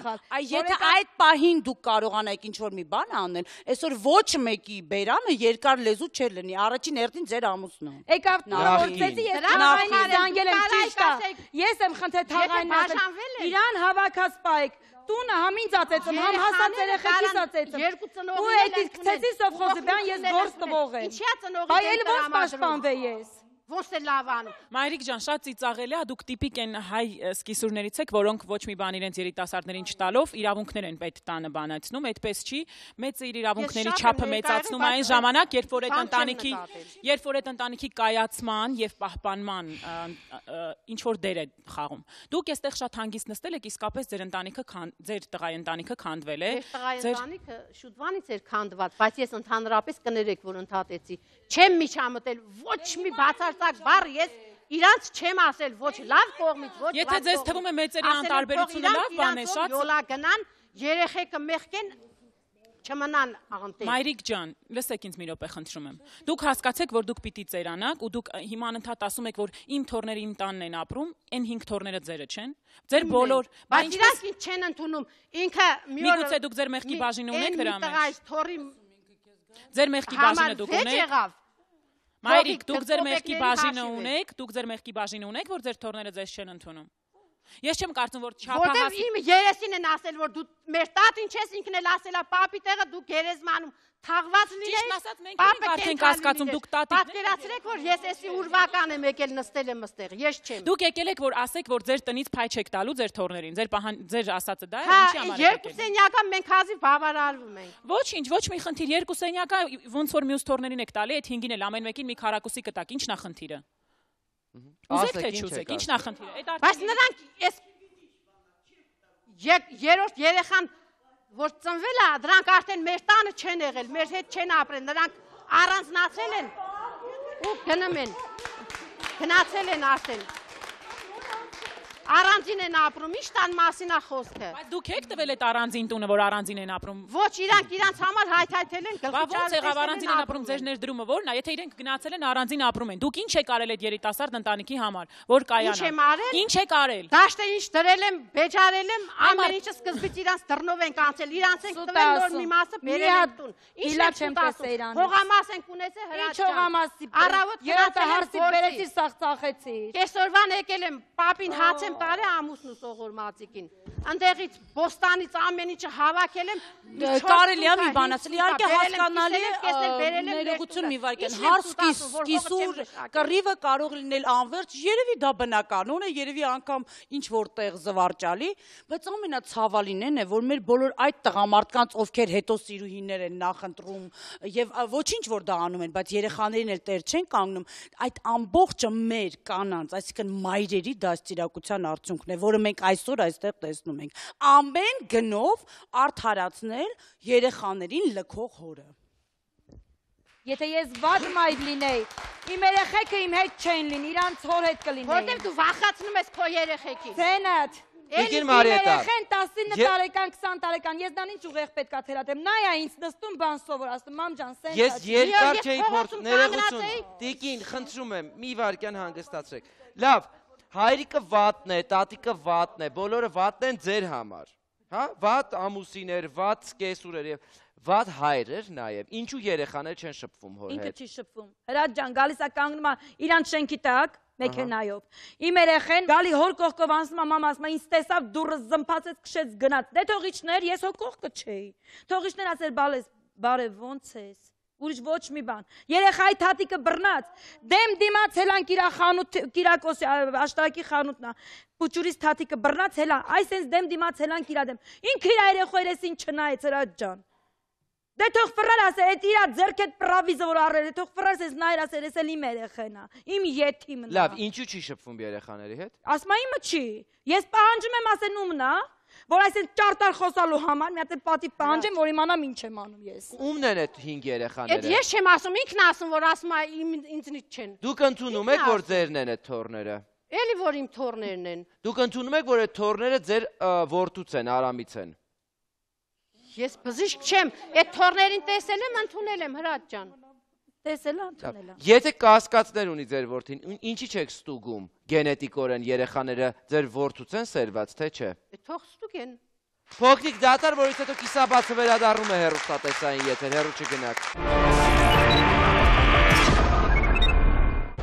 եթե այդ պահին դուք կարողանայիք ինչ-որ մի բան անել, այսօր ոչ մեկի բերանը երկար լեզու չէր լինի, առաջին հերթին ձեր ամուսնու։ Եկավ նորոցեցի, ես թաղայինի զանգել եմ ճիշտ է։ Ես եմ խնդրել թաղայինն ասել, իրան հավաքած պայք։ Տունը համին ծածեցում, համ հասած երեխեքիս ծածեցում։ Երկու ծնողներ ու այդ իսկ ցեցի սովխոզի բան ես գործ տվող եմ։ Ինչի՞ ծնողի։ Բայ էլ ոնց պաշտպանվե ես։ Ոչ թե լավ անում։ Մայրիկ ջան, շատ ծիծաղելի է, դուք տիպիկ են հայ սկիսուրներից եք, որոնք ոչ մի բան իրենց երիտասարդներին չտալով իրավունքներ են պետք տանը բանացնում, այդպես չի, մեծը իր իրավունքների չափը մեծացնում այն ժամանակ, երբ որ այդ ընտանիքի կայացման եւ պահպանման ինչ որ դեր է խաղում։ Դուք այստեղ շատ հանգիստ նստել եք, իսկապես ձեր տղայի ընտանիքը քանդվել է։ Ձեր տղայի ընտանիքը շուտվանից էր քանդված, բայց ես ընդհանրապես կներեք, որ ընդհատեցի։ Չեմ միջամտել ոչ մի բացարձակ բառ, ես իրանց չեմ ասել ոչ լավ կողմից, ոչ լավ կողմից։ Եթե ձեզ թվում է մեծերի անտարբերությունը լավ բան է, շատ յոլա գնան, երեխեքը մեղքեն չմնան աղանտել։ Մայրիկ ջան, լսեք ինձ մի րոպե խնդրում եմ։ Դուք հասկացեք, որ դուք պիտի ծերանաք ու դուք հիմա անընդհատ ասում եք, որ իմ թորները իմ տանն են ապրում, այն 5 թորները ձերը չեն։ Ձեր բոլոր, բայց իրանք ինչ չեն ընդունում։ Ինքը միգուցե դուք ձեր մեղքի բաժինը ունեք դրա մեջ։ Թորի ձեր մեղքի բաժինը դուք ունեք։ Մայրիկ, դուք ձեր մեղքի բաժինը ունեք, որ ձեր թորները ձեզ չեն ընդունում։ Ես չեմ կարծում, որ Որտեղ իմ երեսին են ասել, որ դու մեր տատին չես, ինքն էլ ասել է պապի տեղը դու գերեզմանում թաղված լինես։ Ճիշտ ասած, մենք ենք արդեն կասկածում, դուք տատիկներ եք։ Պատկերացրեք, որ ես էսի ուրվական եմ եկել նստել եմ այստեղ, ես չեմ։ Դուք եկել եք, որ ասեք, որ ձեր տնից փայ չեք տալու ձեր թորներին, ձեր ասածը դա է, Հա, ինչի համար եք երկու սենյակա մենք հազիվ բավարարվում ենք։ Ոչինչ, ոչ մի խնդիր, երկու սենյակա ոնց որ մյուս թորներին եք տալի, այդ 5-ին էլ ամեն մեկին մի քառակուսի կտակ, ի՞նչն է խնդիրը։ Ուզեք թե չուզեք, ի՞նչն է խնդիրը։ Բայց նրանք էս երրորդ երեխան որ ծնվել է, դրանք արդեն մեր տանը չեն եղել, մեր հետ չեն ապրել, նրանք առանձնացել են ու գնում են, գնացել են արդեն, առանձին են ապրում, ինչ տան մասին է խոսքը։ Բայց դուք եք տվել այդ առանձին տունը, որ առանձին են ապրում։ Ոչ, իրանք համար հայթայթել են, ոնց եղավ առանձին են ապրում, ձեր ներդրումը ո՞րն է, եթե իրենք գնացել են առանձին ապրում են, դուք ինչ եք արել այդ երիտասարդ ընտանիքի համար, որ կայանա։ Ինչ եք արել։ Դաշտը ինչ դրել եմ, բեջարել եմ, ամեն ինչը սկզբից իրանց դռնով են կանցել, իրանց են տվել նոր մի մասը բերել են տուն։ Ինչ չեմ ասում։ Հողամաս են ունեցել հրաչան։ Ինչ հողամասի։ Առավոտ երրորդը հարցի բերեցի սաղ ծախեցի։ Կեսօրվան եկել եմ, պապին հաց եմ տարել ամուսնու սողոր մածիկին։ Ընդեղից բոստանից ամեն ինչը հավաքել եմ։ Կարելի է մի բան ասել, իհարկե հասկանալի է, ներողություն մի վարքան, հարց կիսուր կռիվը կարող լինել անverջ, երևի դա բնականon է, երևի անգամ ինչ որտեղ զվարճալի, բայց ամենացավալին է, որ մեր բոլոր այդ տղամարդկանց, ովքեր հետո սիրուհիներ են նախընտրում եւ ոչինչ որ դա անում են, բայց երեխաներին էլ տեր չեն կանգնում, այդ ամբողջը մեր կանանց, այսինքն մայրերի դաստիարակության արդյունքն է, որը մենք այսօր այստեղ տեսնում ենք։ Ամեն գնով արդարացնել երեխաներին լքող հորը։ Եթե ես վատ մայր լինեի, իմ երեխեքը իմ հետ չեն լինի, իրանց հոր հետ կլինեի։ Որտեղ դու վախացնում ես քո երեխեքին։ Ցենդ։ Տիկին Մարիետա։ Երեխեն 19 տարեկան, 20 տարեկան, ես դան ինչ ուղեղ պետքա թերատեմ։ Նայա ինձ նստում բան սովոր, ասում մամ ջան, սենց։ Ես երկար չէի փորձ, ներողություն։ Տիկին, խնդրում եմ, մի վարքյան հանգստացրեք։ Լավ, հայրիկը վատն է, տատիկը վատն է, բոլորը վատն են ձեր համար։ Հա, վատ ամուսիներ, վատ կեսուրեր եւ վատ հայրեր նաեւ։ Ինչու երեխաներ չեն շփվում հոր հետ։ Ինքը չի շփվում։ Հրաչ ջան, գալիս է կանգնում է իրանց շենքի տակ, մեքենայով։ Իմ երեխեն գալի հոր կողքով անցնում է, մամա ասում է, ինձ տեսավ դուրս զմփացեց, քշեց գնաց։ Դե թողիչներ, ես հո կողքը չէի։ Թողիչներ ասել, բարև, ոնց ես։ Ուրիշ ոչ մի բան։ Երեխայի թատիկը բռնած, դեմ դիմաց հելան կիրախանութ, կիրակոս աշտարակի խանութն է։ Պուճուրից թատիկը բռնած հելա, այս հենց դեմ դիմաց հելան կիրադեմ։ Ինքը իր երեխայերեսին չնայեց հրաչ ջան։ Դե թող ֆրար ասել, այդ իրա ձերքետ պրավիզը որ առել է, թող ֆրար ասես նայր ասել, ես էլ իմ երեխեն է, իմ եթիմն է։ Լավ, ինչու չի շփվում երեխաների հետ։ Ասում է իմը չի։ Ես պահանջում եմ ասեն ումն է, որ այսպես ճարտար խոսալու համար մի հատ պատիվ պահանջեմ, որ իմանամ ինչ եմ անում ես։ Ումն են այդ 5 երեխաները։ Այդ ես չեմ ասում, ինքն ասում, որ ասում է ինձնից չեն։ Դուք ընդունում եք, որ ձերն են այդ թորները։ Էլի որ իմ թորներն են։ Դուք ընդունում եք, որ այդ թորները ձեր որդուց են, Արամից են։ Ես բզիշկ չեմ, այդ թորներին տեսել եմ, ընդունել եմ հրաչ ջան։ Տեսել եմ, ընդունել եմ։ Եթե կասկածներ ունի ձեր որդին, ինչի՞ չեք ստուգում գենետիկորեն երեխաները ձեր որդուց են սերված, թե չէ։ Թող ստուգեն։ Փոքրիկ դատար, որից հետո կիսաբացը վերադառնում է հեռուստատեսային եթեր, հեռու չգնաք։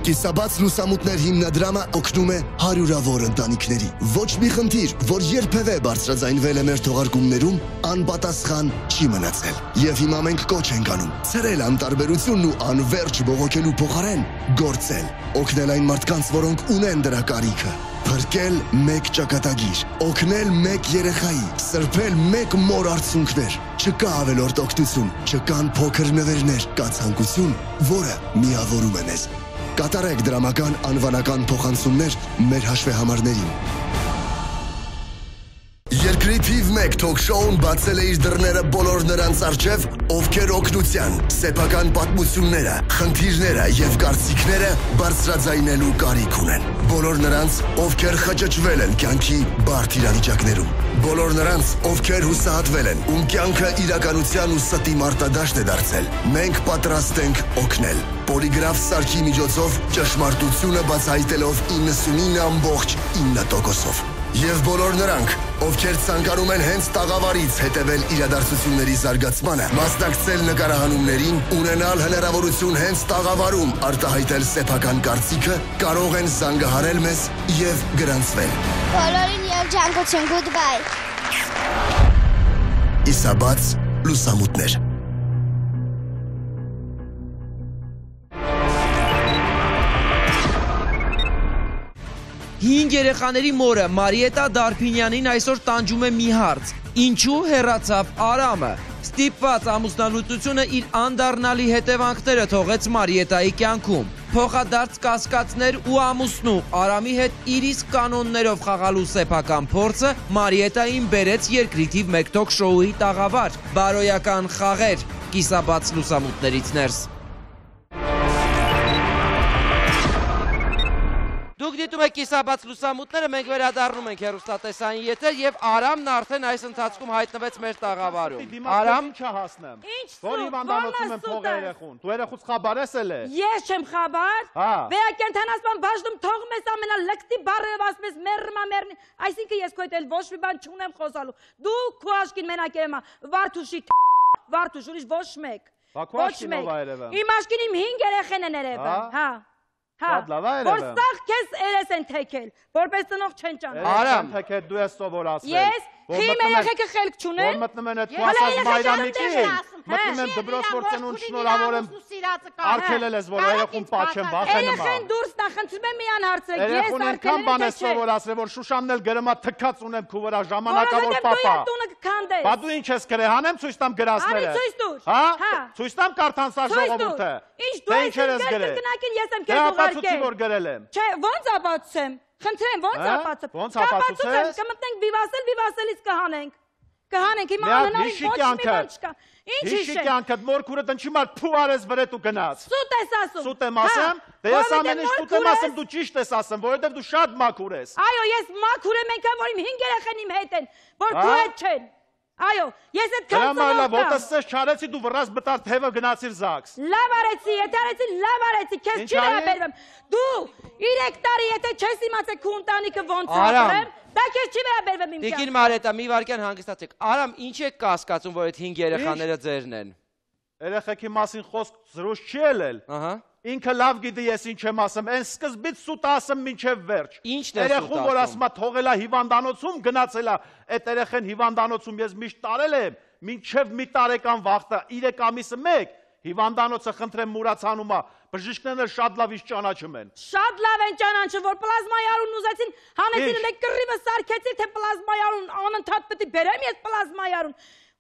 Կիսաբաց լուսամուտներ հիմնադրամը օգնում է հարյուրավոր ընտանիքների։ Ոչ մի խնդիր, որ երբևէ բարձրաձայնվել է մեր թողարկումներում, անպատասխան չի մնացել։ Եվ հիմա մենք կոչ ենք անում ցրել անտարբերությունն ու անverջ բողոքելու փոխարեն գործել, օգնել այն մարդկանց, որոնք ունեն դրա կարիքը։ Փրկել մեկ ճակատագիր, օգնել մեկ երեխայի, սրբել մեկ մոր արցունքներ։ Չկա ավելորդ օգնություն, չկան փոքր նվերներ, կա ցանկություն, որը միավորում է մեզ։ Կատարեք դրամական անվանական փոխանցումներ մեր հաշվեհամարներին։ Երկրի թիվ 1 թոք-շոուն բացել է իր դռները բոլոր նրանց առջև, ովքեր օգնության, սեփական պատմությունները, խնդիրները եւ կարծիքները բարձրաձայնելու կարիք ունեն։ Բոլոր նրանց, ովքեր խճճվել են կյանքի բարդ իրավիճակներում։ Բոլոր նրանց, ովքեր հուսահատվել են, ում կյանքը իրականության ու ստի մարտադաշտ է դարձել։ Մենք պատրաստ ենք օգնել։ Պոլիգրաֆ սարքի միջոցով ճշմարտությունը բացահայտելով 99.9%-ով։ Եվ բոլոր նրանք, ովքեր ցանկանում են հենց տաղավարից հետևել իրադարձությունների զարգացմանը, մասնակցել նկարահանումներին, ունենալ հնարավորություն հենց տաղավարում արտահայտել սեփական կարծիքը, կարող են զանգահարել մեզ եւ գրանցվել։ Բոլորին եւ ջանկություն, goodbye։ Իսաբաց լուսամուտներ։ Հինգ երեխաների մորը Մարիետա Դարփինյանին այսօր տանջում է մի հարց. ինչու հեռացավ Արամը։ Ստիպված ամուսնալուծությունը իր անդառնալի հետևանքները թողեց Մարիետայի կյանքում։ Փոխադարձ կասկածներ ու ամուսնու Արամի հետ իր իսկ կանոններով խաղալու սեփական փորձը Մարիետային բերեց երկրի թիվ 1 թոք շոուի տաղավար։ Բարոյական խաղեր կիսաբաց լուսամուտներից ներս։ Դուք դիտում եք կիսաբաց լուսամուտները, մենք վերադառնում ենք հեռուստատեսային եթեր եւ Արամն արդեն այս ընթացքում հայտնվեց մեր տաղավարում։ Արամ, ինչա հասնեմ։ Որ հիվանդանոցում եմ փողը երեխուն։ Դու երեխուց խաբար ես էլ է։ Ես չեմ խաբար։ Վերակենդանացման բաժնում թողում ես ամենալկտի բառերով ասում ես մեռնի, այսինքն ես քո հետ էլ ոչ մի բան չունեմ խոսալու։ Դու քո աշկին մենակ եմ, Վարդուշի Վարդուշ, ուրիշ ոչ մեկ։ Ոչ մեկ։ Իմ աշկին իմ 5 երեխեն են երևան, հա։ Որ սաղ քեզ երես են թեքել, որպես ծնող չեն ճանաչում։ Արամ, թեքել դու ես սովորացրել։ Ես խիմ երեխեքը խելք չունեն։ Որ մտնում են այդ ու ասած Մայրամիկին, մտնում են դպրոց որ ծնունդ շնորհավոր եմ արգելել ես, որ երեխուն պաչեմ, վախենում եմ։ Երեխեն դուրս տա, խնդրում եմ միան հարցեք, ես երեխուն այնքան բան ես սովորացրել, որ Շուշանն էլ գրմա թքած ունեմ քու վրա ժամանակավոր պապա։ Բա դու ինչ ես գրել, հանեմ ցույց տամ գրածները։ Ցույց տուր։ Հա։ Ցույց տամ կարդանսա ժողովուրդը։ Ինչ դու ես գրել։ Գնակին ես եմ քեզ ուղարկել։ Դե որ գրել եմ։ Չէ, ոնց ապացուցեմ։ Խնդրեմ, ոնց ապացուցեմ։ Ոնց ապացուցեմ։ Կմտնենք վիվասելից կհանենք։ Կհանենք հիմա անհնարին ոչ մի բան չկա։ Ինչ հիշի կյանքդ մորքուրը դնչի մար փու արես վրետ ու գնաց։ Սուտ ես ասում։ Սուտ եմ ասեմ։ Դե ես ամեն ինչ սուտ եմ ասում, դու ճիշտ ես ասում, որովհետև դու շատ մաքուր ես։ Այո, ես մաքուր եմ, այնքան որ իմ 5 երեխեն իմ հետ են, որ քո հետ չեն։ Այո, ես այդ քանցնով կամ։ Ոտսես չարեցի դու վրաս բտար թևը գնացիր ԶԱԳՍ։ Լավ արեցի, եթե արեցի, լավ արեցի, քեզ չի վերաբերվում։ Դու 3 տարի եթե չես իմացել քո ընտանիքը ոնց ապրեմ, դա քեզ չի վերաբերվում իմ կյանքում։ Տիկին Մարիետա, մի վարքյան հանգստացեք։ Արամ, ինչ եք կասկածում, որ այդ 5 երեխաները ձերն են։ Երեխեքի մասին խոսք զրույց չի ելել։ Ահա։ Ինքը լավ գիտի ես ինչ եմ ասում, այն սկզբից սուտ ասում մինչև վերջ։ Ինչն է սուտ երեխուն որ ասում է թողելա հիվանդանոցում գնացելա, այդ երեխեն հիվանդանոցում ես միշտ տարել եմ, մինչև մի տարեկան վախտա 3 ամիսը 1 հիվանդանոցը խնդրեմ մուրացանում է, բժիշկներն շատ լավ իշ ճանաչում են։ Շատ լավ են ճանաչում, որ պլազմայի արուն ուզեցին, հանեցին ու կռիվը սարքեցին, թե պլազմայի արուն անընդհատ պետք է բերեմ ես պլազմայի արուն։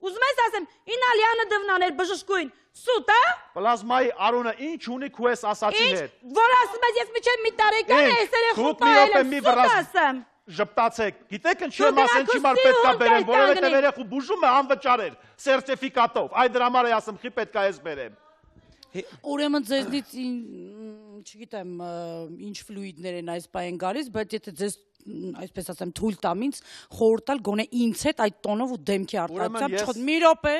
Ուզում ես ասեմ, ինալյանը դվնաներ բժշկույն, սուտ է։ Պլազմայի արունը ինչ ունի քու ես ասացի հետ։ Որ ասում ես ես միջև մի տարեկան է, ես երեխու պահել եմ, սուտ ասեմ։ Ժպտացեք, գիտեք ինչ եմ ասեն չի մար պետք է բերեմ, որովհետև երեխու բուժում է անվճար էր, սերտիֆիկատով, այդ դրա համար է ասում խի պետք է ես բերեմ։ Ուրեմն ձեզնից չգիտեմ ինչ ֆլուիդներ են այս պահին գալիս, բայց եթե ձեզ այսպես ասեմ թույլ տամ ինձ խորհուրդ տալ գոնե ինձ հետ այդ տոնով ու դեմքի արտադրությամբ մի րոպե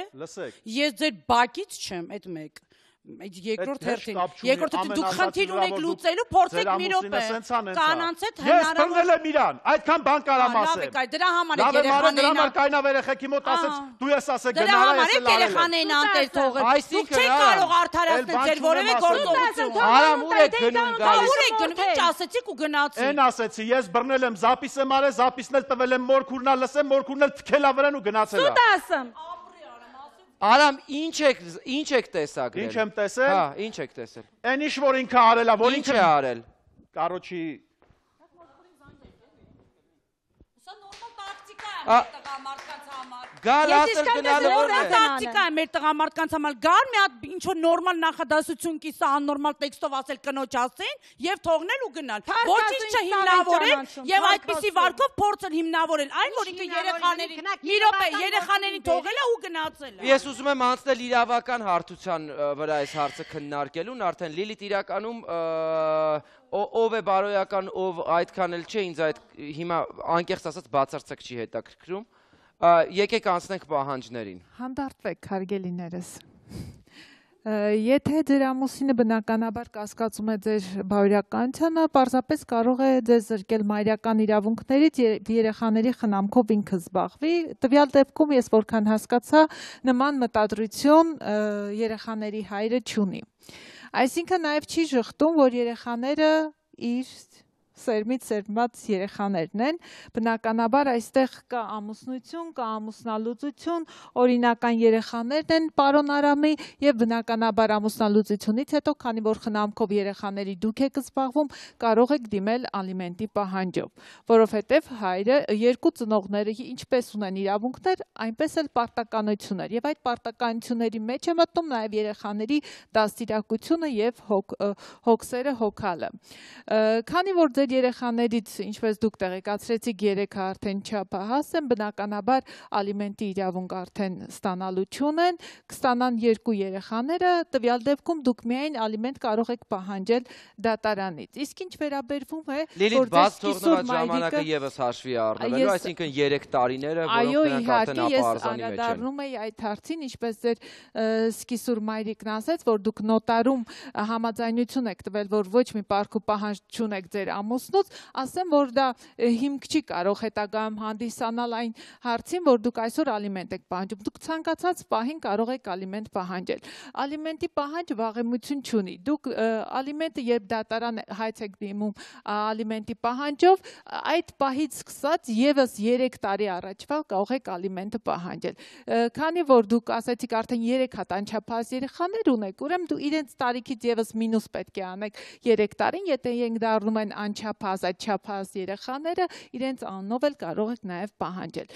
ես ձեր բակից չեմ այդ մեկ երկրորդ հերթին դուք խնդիր ունեք լուծելու փորձեք մի րոպե կանանց հետ հնարավոր ես բռնել եմ իրան այդքան բան կարամ ասեմ դրա համար է երեխաներին կայնավ երեխեքի մոտ ասեց դու ես ասել դրա համար է երեխաներին անտեր թողել դուք չեք կարող արդարացնել ձեր որևէ գործողություն Արամ ուր եք գնում գալիս ուր եք գնում ինչ ասեցիք ու գնացիք այն ասեցի ես բռնել եմ զապիս եմ արել զապիսն էլ տվել եմ մորքուրնա լսեմ մորքուրն էլ թքելա վրան ու գնացել սուտ ասեմ Արամ, ինչ եք տեսագրել։ Ինչ եմ տեսել։ Հա, ինչ եք տեսել։ Այն ինչ որ ինքը արել է, որ ինքը արել։ Կարոջի Սա նորմալ տակտիկա է տղամարդկանց համար։ Գալ ասել գնալը նորմալ տակտիկա է մեր տղամարդկանց համար։ Գալ մի հատ ինչ որ նորմալ նախադասություն կիսա աննորմալ տեքստով ասել կնոջ ասեն եւ թողնել ու գնալ։ Ոչինչ չհիմնավորել եւ այդպիսի վարկով փորձել հիմնավորել։ Այն որ ինքը երեխաներին մի րոպե երեխաներին թողել է ու գնացել է։ Ես ուզում եմ անցնել իրավական հարթության վրա այս հարցը քննարկելուն, արդեն Լիլիթ իրականում ով է բարոյական, ով այդքան էլ չէ, ինձ այդ հիմա անկեղծ ասած բացարձակ չի հետաքրքրում։ Եկեք անցնենք պահանջներին։ Հանդարտվեք, հարգելիներս։ Եթե ձեր ամուսինը բնականաբար կասկածում է ձեր բարոյականությանը, պարզապես կարող է ձեզ զրկել մայրական իրավունքներից երեխաների խնամքով ինքը զբաղվի։ Տվյալ դեպքում ես որքան հասկացա, նման մտադրություն երեխաների հայրը չունի։ Այսինքն նաև չի ժխտում, որ երեխաները իր սերմից սերմված երեխաներն են, բնականաբար այստեղ կա ամուսնություն, կա ամուսնալուծություն, օրինական երեխաներն են պարոն Արամի եւ բնականաբար ամուսնալուծությունից հետո, քանի որ խնամքով երեխաների դուք եք զբաղվում, կարող եք դիմել ալիմենտի պահանջով, որովհետեւ հայրը երկու ծնողները ինչպես ունեն իրավունքներ, այնպես էլ պարտականություններ եւ այդ պարտականությունների մեջ է մտնում նաեւ երեխաների դաստիարակությունը եւ հոգսերը հոգալը։ Քանի որ ձեր երեխաներից, ինչպես դուք տեղեկացրեցիք, 3-ը արդեն չափահաս են, բնականաբար ալիմենտի իրավունք արդեն ստանալություն են, կստանան 2 երեխաները, տվյալ դեպքում դուք միայն ալիմենտ կարող եք պահանջել դատարանից։ Իսկ ինչ վերաբերվում է, Լիլիթ, բաց թողնված ժամանակը եւս հաշվի առնվելու, այսինքն 3 տարիները, որոնք նրանք արդեն ապարզանի մեջ են։ Այո, իհարկե, ես անդրադառնում եի այդ հարցին, ինչպես ձեր սկիսուր մայրիկն ասեց, որ դուք նոտարում համաձայնություն եք տվել, որ ոչ մի պարկ ու պահանջ չունեք ձեր ամուսնուց, ասեմ, որ դա հիմք չի կարող հետագայում հանդիսանալ այն հարցին, որ դուք այսօր ալիմենտ եք պահանջում։ Դուք ցանկացած պահին կարող եք ալիմենտ պահանջել։ Ալիմենտի պահանջը վաղեմություն չունի։ Դուք ալիմենտը երբ դատարան հայց եք դիմում ալիմենտի պահանջով, այդ պահից սկսած եւս 3 տարի առաջվա կարող եք ալիմենտը պահանջել։ Քանի որ դուք ասացիք արդեն 3 հատ անչափահաս երեխաներ ունեք, ուրեմն դու իրենց տարիքից եւս մինուս պետք է անեք 3 տարին, եթե իրենք դառնում են անչափահաս, այդ չափահաս երեխաները իրենց անունով էլ կարող եք նաեւ պահանջել։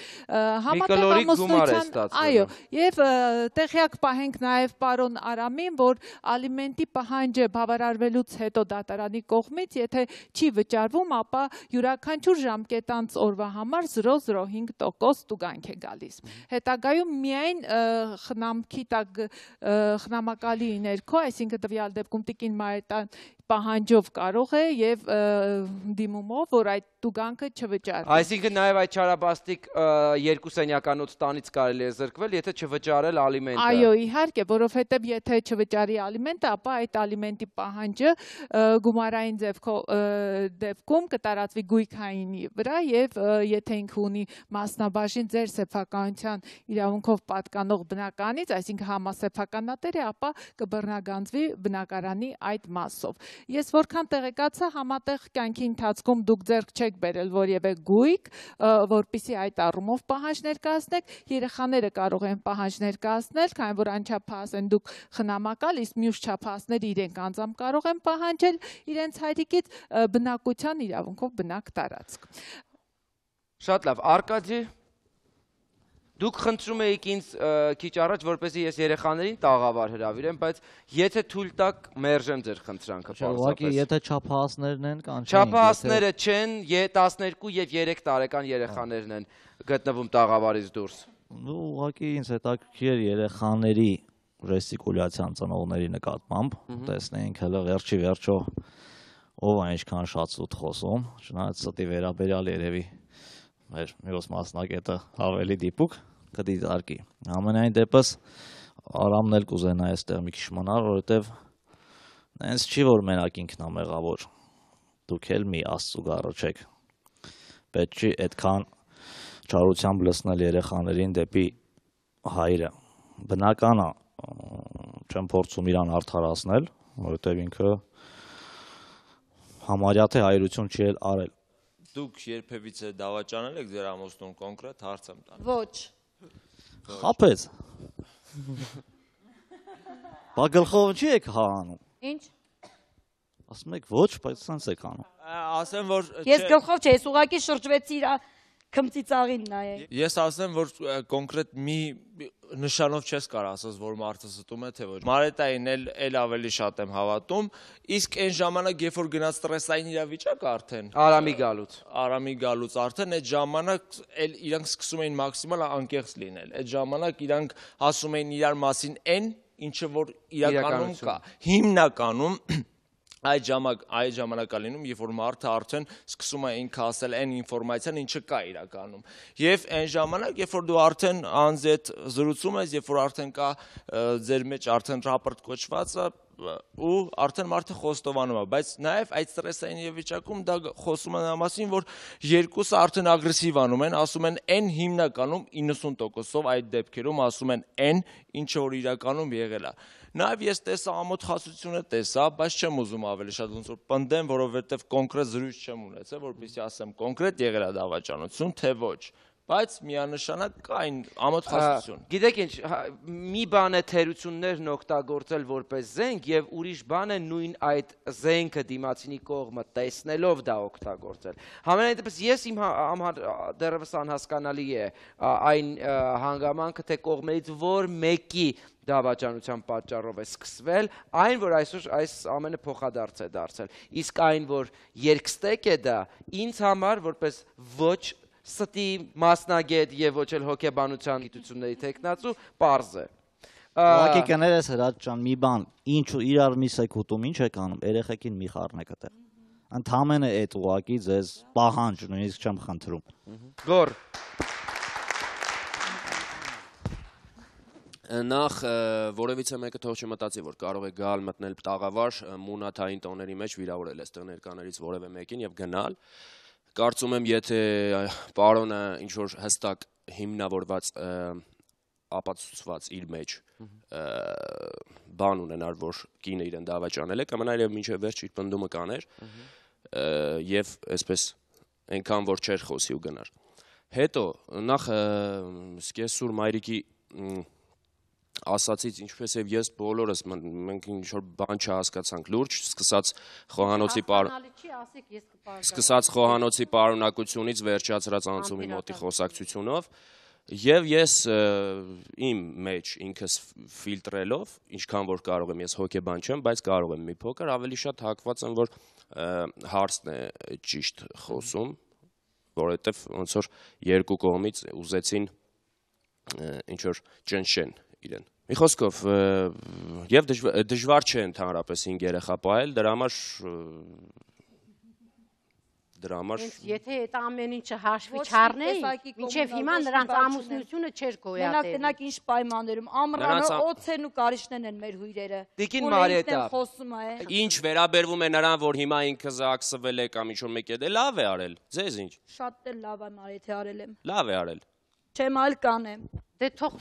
Այո, եւ տեղյակ պահենք նաեւ պարոն Արամին, որ ալիմենտի պահանջը բավարարվելուց հետո դատարանի կողմից, եթե չի վճարվում, ապա յուրաքանչյուր ժամկետանց օրվա համար 0.05% տուգանք է գալիս։ Հետագայում միայն խնամքի տակ խնամակալի ներքո, այսինքն տվյալ դեպքում տիկին Մարիետան պահանջով կարող է եւ դիմումով, որ այդ տուգանքը չվճարվի։ Այսինքն նաեւ այդ չարաբաստիկ 2 սենյականոց տանից կարելի է զրկվել, եթե չվճարել ալիմենտը։ Այո, իհարկե, որովհետեւ եթե չվճարի ալիմենտը, ապա այդ ալիմենտի պահանջը գումարային դեպքում կտարածվի գույքայինի վրա եւ եթե ինքը ունի մասնաբաժին ձեր սեփականության իրավունքով պատկանող բնականից, այսինքն համասեփականատեր է, ապա կբռնագանձվի բնակարանի այդ մասով։ Ես որքան տեղեկացա, համատեղ կյանքի ընթացքում դուք ձեռք չեք բերել որևէ գույք, որպեսզի այդ առումով պահանջ ներկայացնեք, երեխաները կարող են պահանջ ներկայացնել, քանի որ անչափահաս են դուք խնամակալ, իսկ մյուս չափահասները իրենք անձամբ կարող են պահանջել իրենց հայրիկից բնակության իրավունքով բնակ տարածք։ Շատ լավ, Արկադի, դուք խնդրում եք ինձ քիչ առաջ, որպեսզի ես երեխաներին տաղավար հրավիրեմ, բայց եթե թույլ տաք, մերժեմ ձեր խնդրանքը պարզապես։ Ուղղակի եթե չափահասներն են, կանչեն։ Չափահասները չեն, 12 եւ 3 տարեկան երեխաներն են գտնվում տաղավարից դուրս։ Ուղղակի ինձ հետաքրքիր երեխաների ժեստիկուլյացիան ծնողների նկատմամբ, տեսնենք հələ վերջի վերջո ով է ինչքան շատ սուտ խոսում, չնայած ստի վերաբերյալ երևի մեր մյուս մասնակետը ավելի դիպուկ կդիտարկի։ Ամենայն դեպս Արամն էլ կուզենա այստեղ մի քիչ մնալ, որովհետև նենց չի, որ մենակ ինքն է մեղավոր։ Դուք էլ մի Աստծու գառը չեք։ Պետք չի այդքան չարությամբ լցնել երեխաներին դեպի հայրը։ Բնական է, չեմ փորձում իրան արդարացնել, որովհետև ինքը համարյա թե հայրություն չի էլ արել։ Դուք երբևիցե դավաճանել եք ձեր ամուսնուն կոնկրետ հարց եմ տալիս։ Ոչ։ Խաբեց։ Բա գլխով չի եք հանում։ Ինչ։ Ասում եք ոչ, բայց սենց եք անում։ Ասեմ, որ Ես գլխով չէ, ես ուղղակի շրջվեցի իր քմծիծաղին նայել։ Ես ասեմ, որ կոնկրետ մի նշանով չես կարող ասես, որ մարդը ստում է, թե ոչ։ Մարետային էլ ավելի շատ եմ հավատում, իսկ այն ժամանակ, երբ որ գնաց ստրեսային իրավիճակ արդեն, Արամի գալուց արդեն այդ ժամանակ էլ իրանք սկսում էին մաքսիմալ անկեղծ լինել։ Այդ ժամանակ իրանք ասում էին իրար մասին այն, ինչը որ իրականում կա։ Հիմնականում այդ ժամանակա լինում, երբ որ մարդը արդեն սկսում է ինքը ասել այն ինֆորմացիան, ինչը կա իրականում։ Եվ այն ժամանակ, երբ որ դու արդեն անձ հետ զրուցում ես, երբ որ արդեն կա ձեր մեջ արդեն ռապորտ կոչվածը, ու արդեն մարդը խոստովանում է, բայց նաև այդ ստրեսային իրավիճակում դա խոսում է նրա մասին, որ երկուսը արդեն ագրեսիվ անում են, ասում են այն հիմնականում 90%-ով այդ դեպքերում ասում են այն, ինչը որ իրականում եղել է։ Նաև ես տեսա ամոթխասությունը տեսա, բայց չեմ ուզում ավելի շատ ոնց որ պնդեմ, որովհետև կոնկրետ զրույց չեմ ունեցել, որպեսզի ասեմ կոնկրետ եղել է դավաճանություն, թե ոչ։ Բայց միանշանակ կա այն ամոթխասություն։ Գիտեք ինչ, մի բան է թերություններն օգտագործել որպես զենք եւ ուրիշ բան է նույն այդ զենքը դիմացինի կողմը տեսնելով դա օգտագործել։ Համենայն դեպս ես իմ դեռևս անհասկանալի է այն հանգամանքը, թե կողմերից որ մեկի դավաճանության պատճառով է սկսվել, այն որ այսօր այս ամենը փոխադարձ է դարձել։ Իսկ այն որ երկստեք է դա, ինձ համար որպես ոչ ստի մասնագետ եւ ոչ էլ հոգեբանության գիտությունների տեխնացու պարզ է։ Ուղղակի կներես Հրաչ ջան, մի բան, ինչու իրար մի սեկուտում ինչ եք անում, երեխեքին մի խառնեք այդտեղ։ Ընդհանրապես այդ ուղղակի ձեզ պահանջ, նույնիսկ չեմ խնդրում։ Գոր Նախ որևիցե մեկը թող չմտածի, որ կարող է գալ մտնել տաղավար մունաթային տոների մեջ վիրավորել այստեղ ներկաներից որևէ մեկին եւ գնալ։ Կարծում եմ, եթե պարոնը ինչ-որ հստակ հիմնավորված ապացուցված իր մեջ բան ունենար, որ կինը իրեն դավաճանել է, կմնար եւ մինչեւ վերջ իր պնդումը կաներ եւ այսպես այնքան որ չէր խոսի ու գնար։ Հետո նախ սկեսուր մայրիկի ասացից ինչպես եւ ես բոլորս մենք ինչ-որ բան չհասկացանք լուրջ, սկսած խոհանոցի պարունակությունից վերջացրած անցումի մոտի խոսակցությունով եւ ես իմ մեջ ինքս ֆիլտրելով, ինչքան որ կարող եմ, ես հոգեբան չեմ, բայց կարող եմ մի փոքր ավելի շատ հակված եմ, որ հարցն է ճիշտ խոսում, որովհետեւ ոնց որ երկու կողմից ուզեցին ինչ որ ճնշեն իրեն։ Մի խոսքով, եւ դժվար չէ ընդհանրապես 5 երեխա պահել, դրա համար եթե այդ ամեն ինչը հաշվի չառնեին, մինչև հիմա նրանց ամուսնությունը չէր գոյատել։ Մենակ ինչ պայմաններում, ամռանը օձերն ու կարիճներն են մեր հյուրերը։ Տիկին Մարիետա, ինչ վերաբերվում է նրան, որ հիմա ինքը զաքսվել է կամ ինչ-որ մեկ է, լավ է արել, ձեզ ինչ։ Շատ էլ լավ է Մարիեթե արել եմ։ Լավ է արել։ Չեմ այլ կանեմ։ Դե թող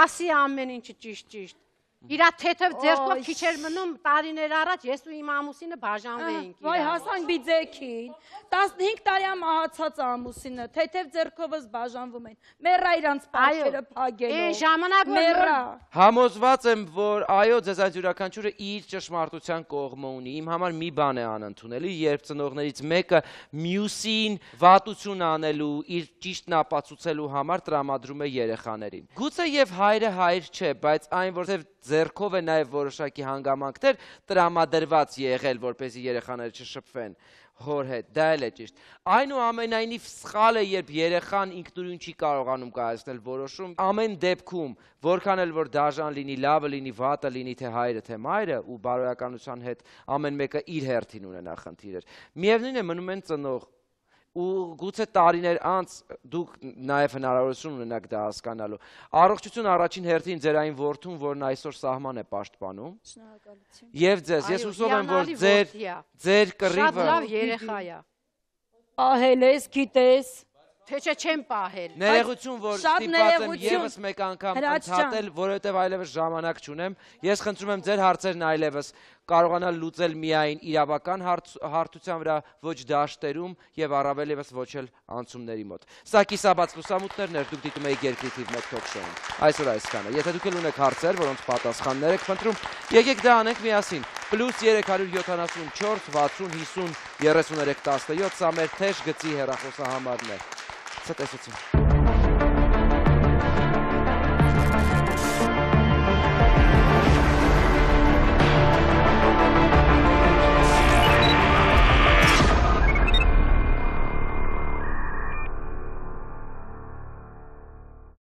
ասի ամեն ինչը ճիշտ։ Իրա թեթև ձեռքով քիչ էր մնում տարիներ առաջ ես ու իմ ամուսինը բաժանվեինք։ Վայ հասանք բիձեքին 15 տարի է մահացած ամուսինը թեթև ձեռքովս բաժանվում են մեռա իրանց պարքերը փագելով Այն ժամանակ մեռա Համոզված եմ որ այո ձեզ այդ յուրաքանչյուրը իր ճշմարտության կողմը ունի իմ համար մի բան է անընդունելի երբ ծնողներից մեկը մյուսին վատություն անելու իր ճիշտն ապացուցելու համար տրամադրում է երեխաներին գուցե եւ հայրը հայր չէ բայց այն որտեղ ձեռքով է նաև որոշակի հանգամանքներ տրամադրված եղել, որպեսզի երեխաները չշփվեն հոր հետ, դա էլ է ճիշտ։ Այնուամենայնիվ սխալ է, երբ երեխան ինքնուրույն չի կարողանում կայացնել որոշում, ամեն դեպքում, որքան էլ որ դաժան լինի, լավը լինի, վատը լինի, թե հայրը, թե մայրը ու բարոյականության հետ ամեն մեկը իր հերթին ունենա խնդիրներ։ Միևնույն է մնում են ծնող ու գուցե տարիներ անց դուք նաև հնարավորություն ունենաք դա հասկանալու։ Առողջություն առաջին հերթին ձեր այն որդուն, որն այսօր սահման է պաշտպանում։ Շնորհակալություն։ Եվ ձեզ, ես հուսով եմ, որ ձեր կռիվը շատ լավ երեխա է։ Ահել ես, գիտես։ Թե չեմ պահել։ Ներողություն, որ ստիպված եմ եւս մեկ անգամ ընդհատել, որովհետեւ այլևս ժամանակ չունեմ։ Ես խնդրում եմ ձեր հարցերն այլևս կարողանալ լուծել միայն իրավական հարթության վրա, ոչ դաշտերում եւ առավել եւս ոչ էլ անցումների մոտ։ Սա կիսաբաց լուսամուտներն էր, դուք դիտում եք Երկրի թիվ 1 թոք-շոուն։ Այսօր այսքանը։ Եթե դուք էլ ունեք հարցեր, որոնց պատասխաններ եք խնդրում, եկեք դա անենք միասին։ +374 60 50 33 17 սա մեր թեժ գծի հեռախոսահամարն է։ Ցտեսություն։